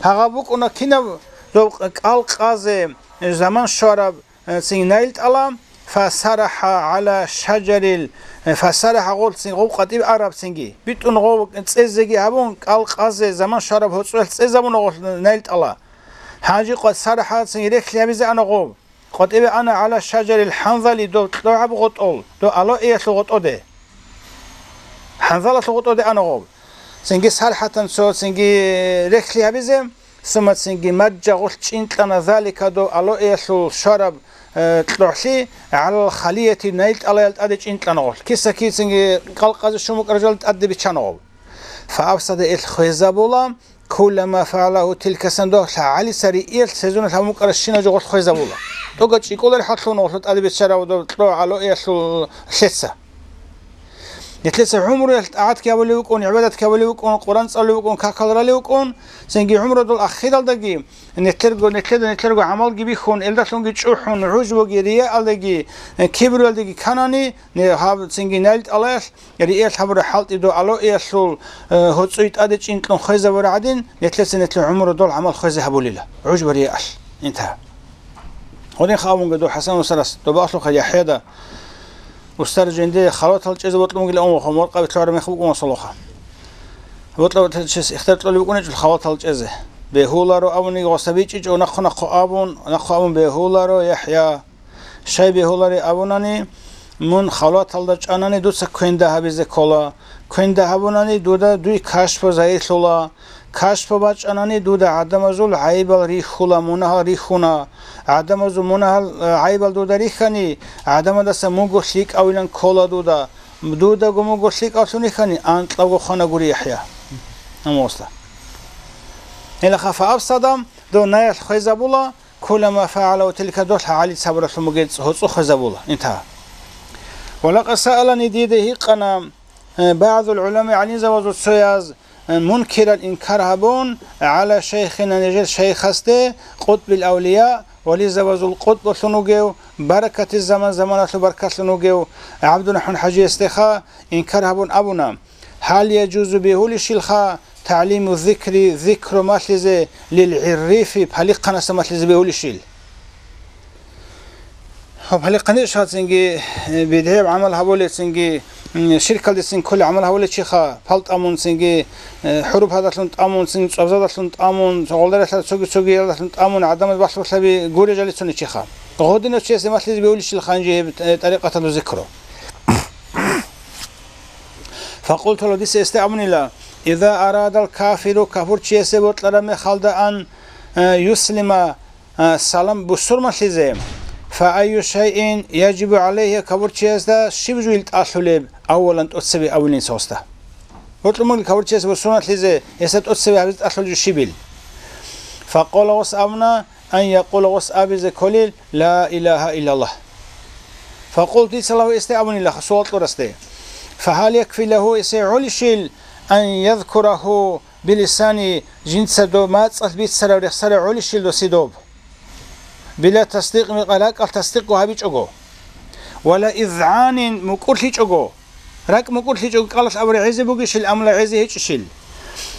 Гьагъаб букӀуна кинаб доб кӀалкъазе, э, заман щвараб, э, цин наил тӀала, фасарахӀа гӀала шажарил, э, фасарахӀа гъолцин гъов къватӀибе арабцинги, битӀун гъов цӀезеги гьабун, кӀалкъазе заман щвараб гьоцӀоялъ цӀезабуна гъолъ наил тӀала. Гьанже къват сарахӀацин рехли гьабизе ана гъов. КъватӀибе ана гӀала шажарил хӀанзали, дов кьогӀаб гъотӀол, дов алоэялъул гъотӀоде. ХӀанзалалъул гъотӀоде ана гъов. Цинги сархӀатан цо, цинги рехли гьабизе, Сумма цинги мажжа гъолъ чӀинкьана залика дов алоэялъул щвараб, э, кьогӀлъи гӀалал халияти найл тӀалаял тӀаде чӀинкьана гъолъ. Киса-кицинги къалкъазе щун букӀараб жоялда тӀаде биччана гъов. Фаабсада, ил хвезабула, кулла ма фагӀалагьу тилка сан, дов гӀалица риэялъ сезуналъ гьабун букӀарабщинаб жо гъолъ хвезабула. ТӀокӀаб чӀикӀкӀулареб хӀаллъун гъолъ тӀаде биччарав дов кьогӀ алоэялъул лъеца. Нилъеца гӀумруялъ тӀагӀатги гьабулев вукӀун, гӀибадатги гьабулев вукӀун, Къуран цӀалулев вукӀун, какал ралев вукӀун, цинги гӀумрудул ахиралдаги нилъерго, нилъеда нилъерго гӀамалги бихьун, элдалъунги чӀухӀун, гӀужбуги, рияалдаги, э, кибруялдаги кканани, не-, гьаб цинги найл тӀалаялъ риэялъ гьабураб хӀалтӀи дов алоэялъул, э, гьоцӀуй тӀаде чӀинкьун хвезабураб гӀадин, нилъеца нилъер гӀумрудул гӀамал хвезе гьабулила, гӀужбу-риялъ. Интагьа. Гьединха абунги дов ХӀасан устарас, доб алъулха ЯхӀяда, устар жинде халватал чӀезе бокьун бугилан, амма моркъаби лъугӀараб мех букӀун васалуха. Бокьарав чияс ихтияр кьолеб букӀунечӀо халватал чӀезе. Бегьуларо абуниги гъоса бичӀчӀичӀо, нахъо-нахъо абун, нахъо абун бегьуларо, ЯхӀя. Щай бегьулареб абунани, мун халваталда чӀанани дуца квенда гьабизе ккола. Квенда гьабунани дуда дуй кашпо загьирлъула. Кашпо бачӀанани дуда гӀадамазул гӀайибал рихьула, мунагьал рихьуна. ГӀадамазул мунагьал, э, гӀайибал дуда рихьани, гӀадамаздаса мунго лъикӀавилан ккола дуда. Дудаго мунго лъикӀавлъун рихьани, анкьабго хвана гури ЯхӀя. Амма гъоса. Гьелаха фаабсада, дов найл хвезабула, кулла ма фагӀалагьу тилка, дов гӀалица гьабуралъун бугеб гьоцӀу хвезабула. Интагьа. Ва лакъад саалани, дида гьикъана, э, багӀзул гӀулама, гӀалимзабазул цояз, э, мункирал инкар гьабун, гӀала шайхина, нижер шайхасде, къутбил авлия, вализабазул къутбулъун вугев, баракатиз заман, заманалъул баркалъун вугев ГӀабдурахӀман ХӀажиясдеха инкар гьабун абуна: «Гьал яжузу, бегьулищилха, тагӀлиму зикри, зикру малъизе, лил гӀиррифи, палихъанасда малъизе бегьулищил?» Гьаб палихъанищ гьацинги, э, бидгӀияб гӀамал гьабулецинги, м, ширкалдецин кколеб гӀамал гьабулев чиха, пал тӀамунцинги, э, хӀуруб гьадалъун тӀамунцин, цӀвабзадалъун тӀамун, гъолдаралъа цоги-цогиялдалъун тӀамун гӀадамаз бахлъулъаби гурей жалицуней чиха. Гъодинав чиясе малъизе бегьулищилха гьанже гьеб, э, тӀарикъаталда зикру. Факъулту лагьу, дица гьесда абунила: «Иза арадал кафиру, кафурчиясе бокьараб мехалда ан, э, юслима, э, салам бусурманлъизе, фа айю шайин яжибу гӀалайгьи, кафурчиясда щиб жуйил тӀалъулеб?» Аввалан тӀоцебе абулин цоста. Бокьун бугел кафурчиясе бусурманлъизе гьесда тӀоцебе гьабизе тӀалъулеб жо щибил? Факъула, гъос абуна, ан якъула, гъос абизе кколил: «Ла илагьа иллаллагь». Факъулту, дица лагьу, гьесде абунила, суал кьурасде: «Фагьал якфи лагьу, гьесие гӀолищил, ан язкурагьу билисани, жинца доб мацӀалъ бицараб рехсараб гӀолищил досе доб? Била тасдикъ, мекъа ракӀалъ тасдикъго гьабичӀого, вала изгӀанин, мукӀурлъичӀого». РакӀ мукӀурлъичӀого, кӀалалъ абураб гӀезе бугищил, амма гӀезе гьечӀищил?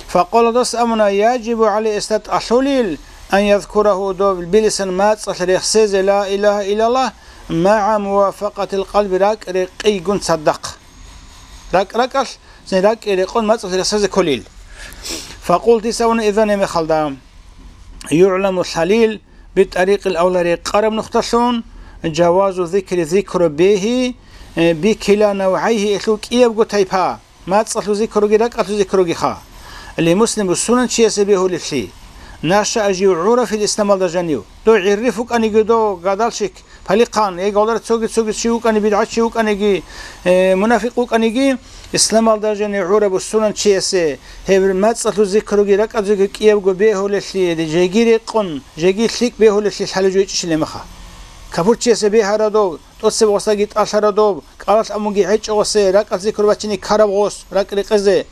Факъула, дос абуна: «Яжибу гӀалайгьи, гьесда тӀалъулил, ан язкурагьу, доб билисан мацӀалъ рехсезе ла илагьа иллаллагь, магӀа мувафакъатил къалби, ракӀ рекъейгун цадахъ». РакӀ ракӀалъ, цин ракӀ рекъон мацӀалъ рехсезе кколил. Факъулту, дица абуна, изан, гьеб мехалда, югӀламу, лъалил, битӀарикъил авла, рекъараб нухдалъун, жавазу зикри, зикру бегьи, э, бикила навгӀайгьи, гьелъул кӀиябго тайпа, мацӀалъул зикруги, ракӀалъул зикругиха. Ли муслим, бусурманчиясе бегьулеблъи. Нашаа, жив гӀурав, фил исламалда жанив. Дов гӀирриф вукӀаниги, дов гадалщик, палихъан, эгодара цоги-цоги чи вукӀани, бидгӀачи вукӀаниги, э, мунафикъ вукӀаниги, исламалда жанив гӀураб бусурманчиясе гьеб мацӀалъул зикруги, ракӀалъул зикруги кӀиябго бегьулеблъи, жеги рекъон, жеги лъикӀ бегьулеблъи лъалеб жо гьечӀищилеб меха. Кафурчиясе бегьараб дов, тӀоцеб гъосдаги тӀалъараб дов, кӀалалъ абунги гьечӀо гъосе, ракӀалъ зикру бачине ккараб гъос, ракӀ рекъезе.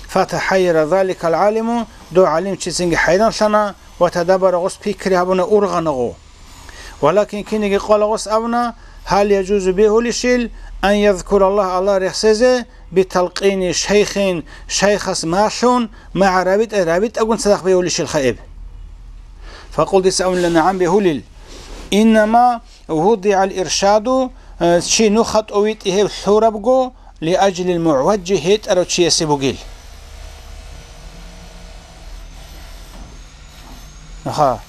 Фатахайяра заликал гӀалиму, дов гӀалимчицинги хӀайранлъана ва тадаббара, гъос пикри гьабуна, ургъана гъо. Валакин киниги къвала гъос абуна: «Гьал яжузу, бегьулищил, ан язкураллагь, Аллагь рехсезе, биталкъини шайхин, шайхас малъун, магӀа рабитӀа, рабитӀагун цадахъ бегьулищилха гьеб?» Факъулту, дица абунила: «НагӀам, бегьулил. Иннама вудигӀал иршаду, э, чи нуха тӀовитӀи гьеб лъурабго, лиажлил мугӀважжи, гьетӀарав чиясе бугил». Аха.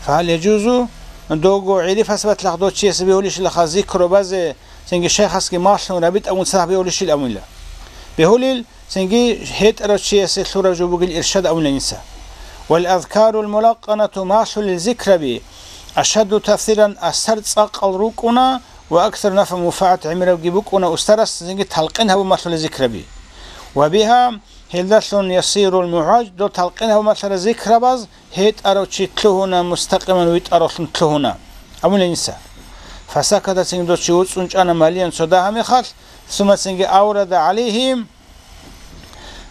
Фагьал яжузу, дого гӀиррифас батлахъ дов чиясе бегьулищилаха зикру базе, цинги шайхасги малъун рабитӀагун цадахъ бегьулищил абунила. Бегьулил, цинги гьетӀарав чиясе лъураб жо бугил иршад абунила гьениса. Вал азкарул мулакканату, малъулел зикраби, ашадду таъсиран, асар цӀакъал рукӀуна ва аксар нафгӀан, мунпагӀат гӀемерабги букӀуна устарас цинги талкъин гьабун малъулел зикраби. Ва бигьа, гьелдалъун, ясирул мугӀаж, дол талкъин гьабун малъарал зикрабаз гьетӀарав чи лъугьуна, мустакъиман витӀаравлъун лъугьуна. Абулеб инса. Фасаката, цинги дов чи уцӀцӀун чӀана малиян цо дагьаб мехалъ, сумма, цинги, аврада гӀалайгьим,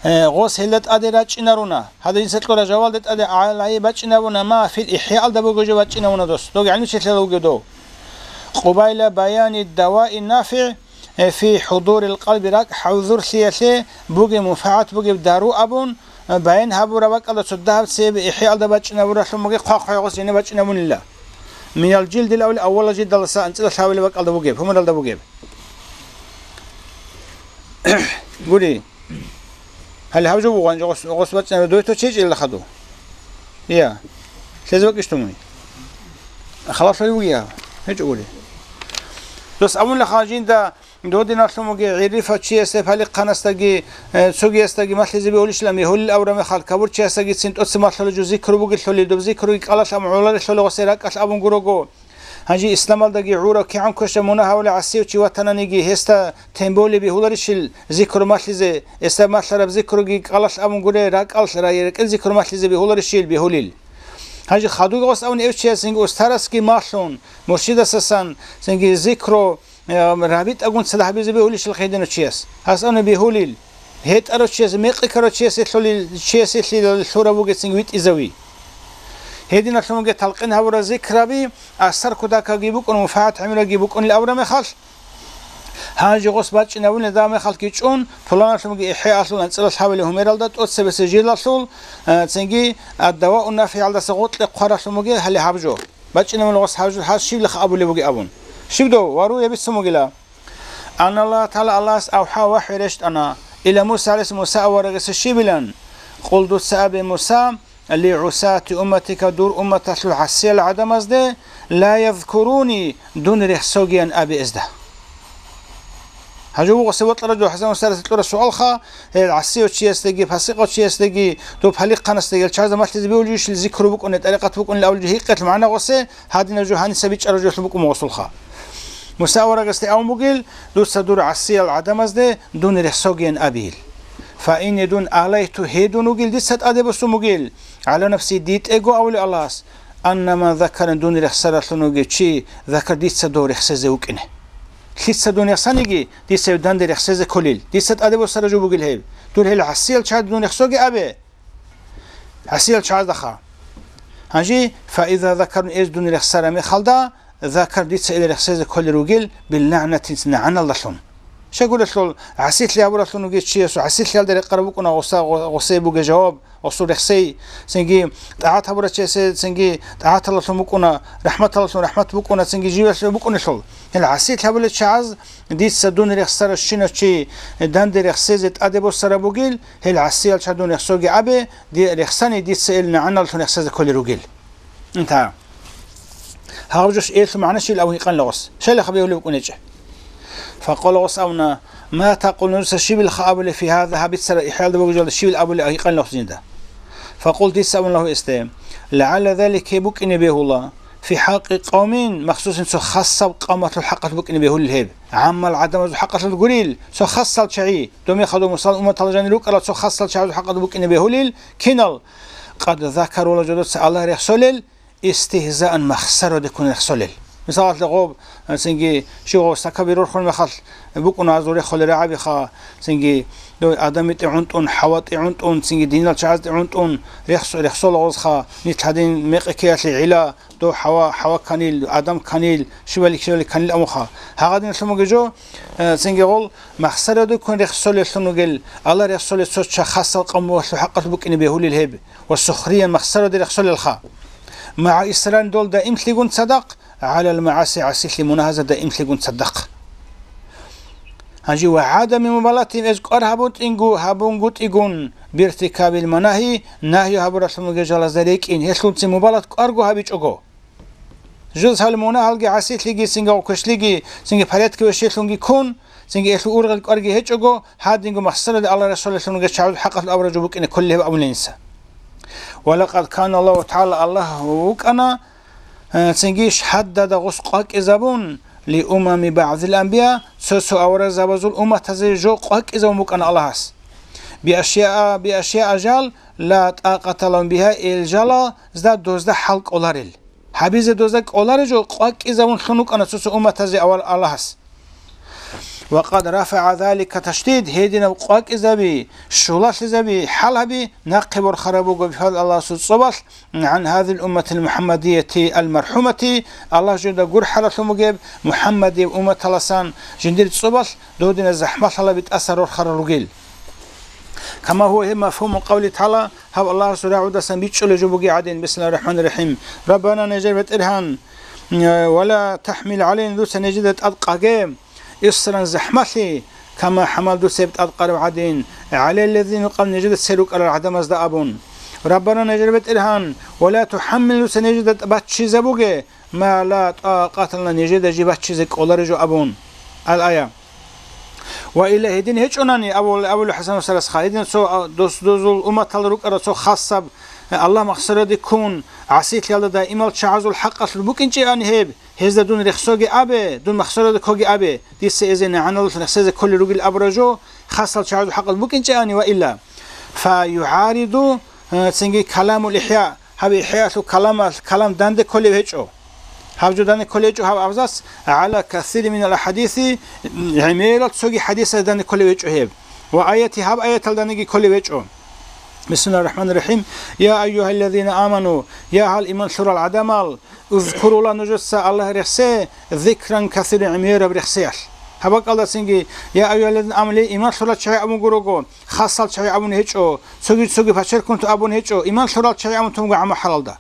э, гъос гьелда тӀаде рачӀинаруна. Гьадин, инса кьура жавалда тӀаде гӀалайгьи бачӀинабуна, ма фил ИхӀяалда бугеб жо бачӀинабуна дос. Дов гӀелмучилъала вугев дов. Къубайла баяни даваи нафигӀ, э, фи хӀудурил къалби, ракӀ хӀузурлъиялъе бугеб, мунпагӀат бугеб дару абун, э, баян гьабураб бакӀалда цо дагьаб цебе ИхӀяалда бачӀинабуралъун бугеб, хъвахъ гъос гьениб бачӀинабунила. Минал жилдил аввали, аввалал жилдалдаса анцӀила лъабабилеб бакӀалда бугеб, гьумералда бугеб. Гури. Гьале гьаб жо бугъан, гъос, гъос бачӀинаб, дой то чечӀила хаду. Я. Лъезе бакӀищ тумуй? Халалъулев вугев? ГьечӀо гури. Дос абула ха жинда, додиналъун бугеб гӀиррифав чиясда, палихъанасдаги, э, цогиясдаги малъизе бегьулищилан бегьулел абураб мехалъ, кабурчиясдагицин тӀоцебе малъула жо зикру бугелъулил, доб зикруги кӀалалъ абун гӀоларелъула гъосе ракӀалъ абун гурого. Гьанже исламалдаги гӀураб кигӀан квеша мунагь гьавулев гӀасияв чи ватананиги, гьесда тем более бегьуларищил зикру малъизе, гьесда малъараб зикруги кӀалалъ абун гуре, ракӀалъ рай-, рекӀел зикру малъизе бегьуларищил бегьулил. Гьанже хадуги гъос абуни эв чияс цинги устарасги малъун, муршидасасан цинги зикру, э, рабитӀагун цадахъ гьабизе бегьулищил хъидинав чияс. Гьас абуни бегьулил. ГьетӀарав чиясе, мекъи ккарав чиясе лъули-, чиясе лъила-, лъурав вугецин витӀизави. Гьединалъун вугеб талкъин гьабурал зикраби, асар кутакабги букӀун, мунпагӀат гӀемерабги букӀунил абураб мехалъ, гьанже гъос бачӀинабунел дагьаб мехалъги чӀун, пуланалъунги ИхӀяалъул анцӀила лъабабилеб гьумералда тӀоцебесеб жилдалъул, а, цинги аддаваун нафигӀалдаса гъоркье хъваралъун бугеб гьале гьаб жо. БачӀинабуна гъос гьаб жо, гьас щиблихъ абулеб бугеб абун. Щиб дов, ва руя бицун бугила. Анна Аллагь ТагӀала, Аллагьас авхӀа вахӀю рещтӀана, ила Муса гӀалайгьи-, Муса аварагасда щибилан: «Къул», дуца абе, Муса, «ли гӀусати умматика», дур умматалъул гӀасиял гӀадамазде, «ла язкуруни», дун рехсогиян абе гьезда. Гьанже вуго гъосе бокьарав жо ХӀасан устарас кьураб суалха, гьел гӀасияв чиясдаги, пасикъав чиясдаги, доб палихъанасдаги, гьел чагӀазда малъизе бегьулищил зикру букӀунеб, тӀарикъат букӀунеб абулеб жо гьикъиялъ магӀна гъосе, гьадинаб жо гьаниса бичӀчӀараб жо гьелъул букӀун буго гъосулха. Муса аварагасде абун бугил, дуца дур гӀасиял гӀадамазде дун рехсогиян абейил. Фаинни дун алайту гьедун вугил дица тӀаде босун бугил, гӀала нафси дитӀего авулев Аллагьас, аннама закаран дун рехсаралъун вугев чи закар дица дов рехсезе вукӀине. Лъица дун рехсаниги, дица гьев данде рехсезе кколил. Дица тӀаде босараб жо бугил гьеб. Дур гьел гӀасиял чагӀазда дун рехсоге абе. ГӀасиял чагӀаздаха. Гьанже, фаиза закарун эз дун рехсараб мехалда, закар дица ил рехсезе кколел ругел, биллагӀнатин нагӀаналдалъун. Щайгурелъул, гӀасилъи гьабуралъун вугев чиясул гӀасилъиялда рекъараб букӀуна гъоса-, гъо-, гъосей бугеб жаваб, гъосул рехсей, цинги тӀагӀат гьабурав чиясе, цинги тӀагӀаталалъун букӀуна, рахӀматалалъун рахӀмат букӀуна, цинги живелъ букӀунелъул. Гьел гӀасилъи гьабулел чагӀаз дица дун рехсарав щинав чи данде рехсезе тӀаде босараб бугил, гьел гӀасиял чагӀаз дун рехсоге абе, ди-, рехсани дица ил нагӀаналлъун рехсезе кколел ругел. Инта. Гьаб жош элъу магӀна щибил абун гьикъанила гъос. Щайла хабиулев букӀунечӀе. Факъала гъос абуна, ма такъулун, дуца щибилха абулеб фи гьаза, гьаб бицара ИхӀяалда бугеб жоялда щибил абулеб гьикъанила гъос жинда. Факъулту, дица абуна лагьу гьесде, лагӀалла залик, гьеб букӀине бегьула, фи хӀакъи къавмин, махсусин цо хасаб къавмалъул хӀакъалъулъ букӀине бегьулел гьеб. ГӀаммал гӀадамазул хӀакъалъулъ гурил, цо хасал чагӀи, доб мехалда Мусал умматалда жанир рукӀарал цо хасал чагӀазул хӀакъалъулъ букӀине бегьулел, кинал? Къад закару, вала жодоца Аллагь рехсолел, истигьзаан, махсараде ккун рехсолел. Мисалалъе, гъоб, цинги, щив гъов стакаби рорхун мехалъ букӀуна азул рехсолел рагӀабиха, цинги, дой Адам битӀи гӀунтӀун, ХӀава тӀи гӀунтӀун, цинги динал чагӀаз тӀи гӀунтӀун рехс-, рехсола гъозха, нилъ гьадин мекъи ккеялъе гӀила, дов ХӀава, ХӀава кканил, Адам кканил, щибали-щибали кканил амуха. Гьагъадиналъун бугеб жо, э, цинги гъол махсараде ккун рехсолеллъун ругел, Аллагь рехсолел цо ча-, хасал къавмалъул хӀакъалъулъ букӀине бегьулел гьеб. Ва сухриян, махсараде рехсолелха. МагӀа исрарин, дол даимлъигун цадахъ, гӀалал магӀаси, гӀасилъи мунагьазда даимлъигун цадахъ. Гьанже ва гӀадами мубалатин, эз кӀвар гьабутӀинго, гьабунгутӀигун, биртикабил манагьи, нагьи гьабуралъун ругел жалазда рекӀин, гьелъулцин мубалат кӀварго гьабичӀого. Жуз гьал мунагьалги гӀасилъиги, цинги гъокквешлъиги, цинги порядке вещелъунги ккун, цинги элъул ургъел кӀварги гьечӀого, гьадинго махсараде Аллагь рехсолеллъун ругел чагӀазул хӀакъалъулъ абураб жо букӀине кколел гьеб абулин инса. Ва лакъад кана Аллагьу тагӀала, Аллагь вукӀана, э, цинги шагьаддада гъус къвакӀизабун, ли умами багӀзил анбия, цо-цо аварагзабазул умматазе жо къвакӀизабун букӀана Аллагьас. Биашяа, биашяа жал, ла тӀакъата лагьум бигьа, ил жалазда дозда хӀал кӀоларел. Гьабизе дозда кӀоларел жо къвакӀизабун лъун вукӀана цо-цо умматазе авал Аллагьас. Ва къад рафагӀа залика ташдид, гьединаб къвакӀизаби, щулалъизаби, хӀал гьаби нахъе борхараб буго бихьал Аллагьасул цӀобалъ, гӀан гьазил умматил мухӀаммадияти ал-мархӀумати, Аллагь жинда гурхӀаралъун бугеб МухӀаммадияб умматаласан жиндир цӀобалъ додина захӀмалъалаби тӀаса рорхарал ругел. Кама гьува гьеб мафгьуму къавли тагӀала, гьаб Аллагьасул рагӀудасан бичӀчӀулеб жо бугеб гӀадин, бисмиллагьир рахӀманир рахӀим. Раббана, нижер БетӀергьан, ва ла тахӀмил гӀалайна, дуца нижеда тӀад къаге, исран, захӀмалъи, кама хӀамалта, дуца гьеб тӀад къараб гӀадин, гӀалаллазина, къабл, нижеда цере рукӀарал гӀадамазда абун. Раббана, нижер БетӀергьан, ва ла тухӀаммилна, дуца нижеда баччизабуге, ма ла тӀакъата лана, нижеда жиб баччизе кӀолареб жо абун. Ал-ая. Ва илла, гьедин гьечӀонани, абула, абула ХӀасан ва Саласха, гьедин цо, а, дос-, дозул умматал рукӀарал цо хасаб, а, Аллагь махсараде ккун, гӀасилъиялда даимал чагӀазул хӀакъалъулъ букӀинчӀебани гьеб, гьезда дун рехсоге абе, дун махсараде ккоге абе, дица эзе нагӀаналъ рехсезе кколел ругел абураб жо, хасал чагӀазул хӀакъалъулъ букӀинчӀебани ва илла. Фа югӀариду, а, цинги каламул ихӀя, гьаб ИхӀяалъул каламалъ, калам данде кколеб гьечӀо. Гьаб жо данде кколеб гьечӀо гьаб абзац, гӀала касири минал ахӀадиси, гӀемерал цоги хӀадисаз данде кколеб гьечӀо гьеб. Ва аяти гьаб аяталданиги кколеб гьечӀо. Бисмиллагьир рахӀманир рахӀим. Я айюгьаллазина аману, я гьал иман лъурал гӀадамал, узкурула нужеца Аллагь рехсе, зикран касиран, гӀемераб рехсеялъ. Гьаб бакӀалдасинги, я айюгьаллазина аману, ле иман лъурал чагӀи абун гурого, хасал чагӀи абун гьечӀо, цоги-цоги пачеркунту абун гьечӀо, иман лъурал чагӀи абун тунго гӀамахӀалалда.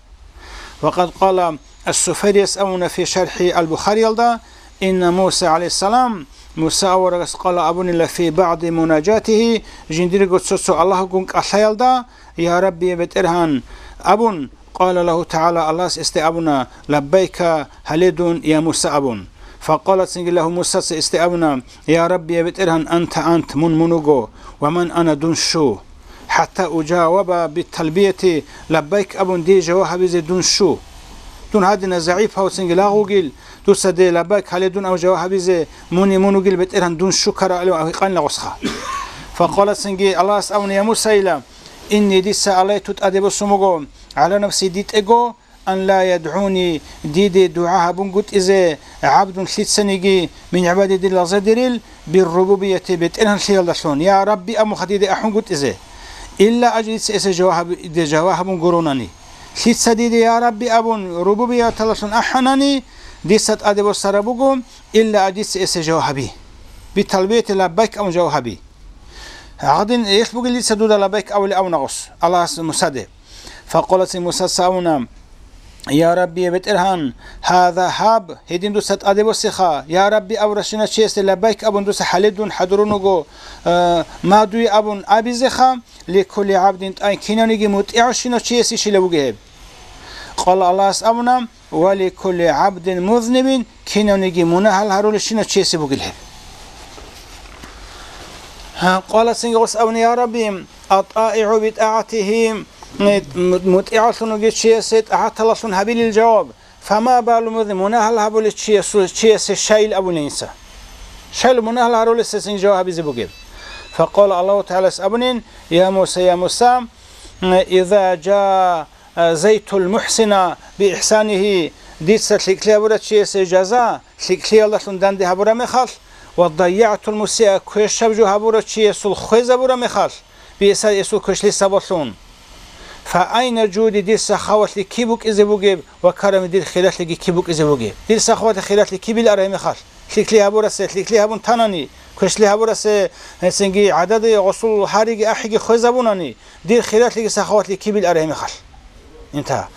Ва къад къала ас-Суфарияс абуна фи шархӀи ал-Бухариялда, инна Муса гӀалайгьиссалам, Муса аварагас къала абунила фи багӀди мунажатигьи, жиндирго цо-цо Аллагьгун кӀалъаялда, я Рабби, я БетӀергьан, абун, къала лагьу тагӀала, Аллагьас эсде абуна, лаббайка, гьале дун, я Муса, абун. Факъала цинги лагьу Мусаца эсде абуна, я Рабби, я БетӀергьан, анта ант, мун мун вуго, ва ман ана, дун щу? ХӀатта уджаваба бит-талбияти, лаббайк абун дие жаваб гьабизе дун щу? Дун гьадина загӀипав цинги лагъ вугил, дуца дие лаббайк гьале дун абун жаваб гьабизе, муни мун вугил, БетӀергьан, дун щу ккараб гьикъанила гъосха. Факъала цинги Аллагьас абуна, я Мусайила, инни, дица, алайту, тӀаде босун буго, гӀала нафси, дитӀего, ан ла ядгӀуни, диде дугӀа гьабунгутӀизе, гӀабдун, лъицаниги, мин гӀибади, дир лагъзадерил, биррубубияти, бетӀергьанлъиялдалъун, я Рабби абунха диде ахӀунгутӀизе. Илла аджу, дица эсе жаваб гьаби-, диде жаваб гьабун гуронани. Лъица диде я Рабби абун рубубияталдалъун ахӀанани, дица тӀаде босараб буго, илла аджу, дица эсе жаваб гьаби. Биталбияти лаббайк абун жаваб гьаби. Гьадин, гьелъ бугел дица дуда лаббайк абулеб абуна гъос, Аллагьас Мусаде. Факъала цин Мусаца абуна, я Рабби, я БетӀергьан, гьаза, гьаб, гьедин дуца тӀаде босеха, я Рабби абуращинав чиясде лаббайк абун дуца гьале дун хӀадурун вуго, э, ма дуе абун абизеха, ликулли гӀабдин, тӀай кинавниги мутӀигӀавщинав чиясе щила бугеб гьеб. Къала, Аллагьас абуна, ва ликулли гӀабдин музнибин, кинавниги мунагьал гьарулевщинав чиясе бугел гьеб. Гьа, къала цинги гъос абуна, я Рабби, атӀаигӀу битӀагӀатигьи, мутӀигӀаллъун вугев чиясе тӀагӀаталлъун гьабилел жаваб, фама балу музниб, мунагьал гьабулев чиясул, чиясе щайил абуна инса. Щайил мунагьал гьарулесе цинги жаваб гьабизе бугеб? Факъала, Аллагьу ТагӀалас абунин, я Муса, я Муса, иза жа а, зайтул мухӀсина биихӀсанигьи, дица лъикӀлъи гьабурав чиясе жаза лъикӀлъиялдалъун данде гьабураб мехалъ, ва дайягӀтул мусиа, квешаб жо гьабурав чиясул хвезабураб мехалъ, биэса эсул квешлъи сабаблъун. Фа айна жуди, дир сахаватлъи киб букӀизе бугеб ва карами, дир хиралъиги киб букӀизе бугеб? Дир сахаватлъи хиралъи кибил арай мехалъ, лъикӀлъи гьабурасе лъикӀлъи гьабун танани, квешлъи гьабурасе гьесинги гӀададе гъосул гьариги ахӀиги хвезабунани, дир хиралъиги сахаватлъи кибил арай мехалъ. Интагьа.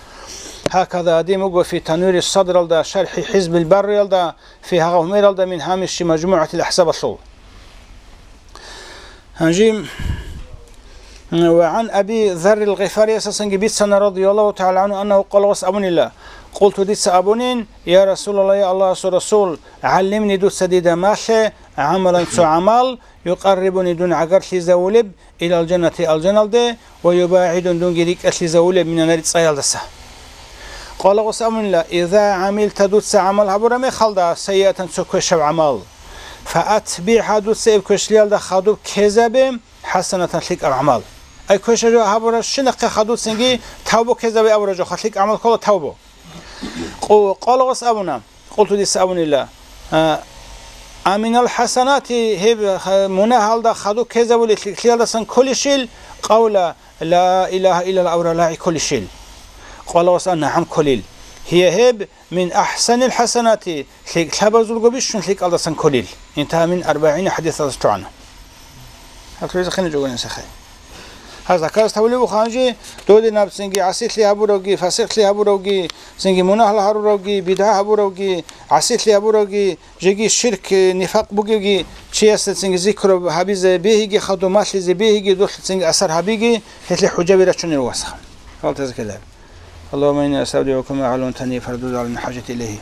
Гьаказа гьадин буго фи Танвири Садралда, шархӀи ХӀизбил Барриялда, фи гьагъа гьумералда мин гьамиши МажмугӀатил АхӀзабалъул. Гьанжи, ва гӀан Аби Заррил Гъифариясасанги бицана, радияллагьу тагӀала гӀанху, аннагьу къала, гъос абунила, къулту, дица абунин, я Расулаллагь, я Аллагьасул Расул, гӀаллимни, дуца дида малъе, гӀамалан цо гӀамал, юкъаррибуни дун гӀагарлъизавулеб, илал жаннати алжаналде, ва юбагӀидун дунги рикӀкӀалъизавулеб минан нари цӀаялдаса. Къала гъос абунила, иза гӀамилта дуца гӀамал гьабураб мехалда, сайиатан цо квешаб гӀамал, фаатбигӀа дуца гьеб квешлъиялда хадуб ккезабе, хӀасанатан лъикӀаб гӀамал. Ай квешаб жо гьабурабщинахъе хадуб цинги тавбу ккезабе абураб жоха лъикӀаб гӀамал ккола тавбу. Къу-, къала гъос абуна, къулту дица абунила, а, аминал хӀасанати гьеб, ха-, мунагьалда хадуб ккезабули лъикӀлъиялдасан кколищил, къавла ла илагьа иллаллагь абураб лагъи кколищил. Къала гъос а нагӀам кколил. Гьия гьеб мин ахӀсанил хӀасанати, лъикӀлъабазулго бищун лъикӀалдасан кколил. Интагьа мин арбагӀина хӀадисалдаса чӀвана. Гьаб лъугӀизе хиничӀого гьанисехъе. Гьаз закарас тавлеб буха гьанже, додинаб цинги гӀасилъи гьабуравги, фасикълъи гьабуравги, цинги мунагьал гьаруравги, бидгӀа гьабуравги, гӀасилъи гьабуравги, жеги ширк, э, нифакъ бугевги, чиясда цинги зикру гьабизе бегьиги, хадуб малъизе бегьиги, дулъ цинги асар гьабиги, гьелъе хӀужаби рачунел васха. Гьалтаза ккелаб. اللهم إني أستودعك ما علمتني فارده على من حاجتي إليه.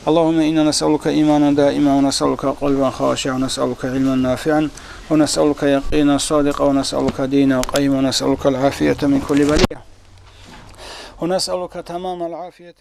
اللهم إنا نسألك إيمانا دائما، ونسألك قلبا خاشعا، ونسألك علما نافعا، ونسألك يقينا صادقا، ونسألك دينا قيما، ونسألك العافية من كل بلية، ونسألك تمام العافية.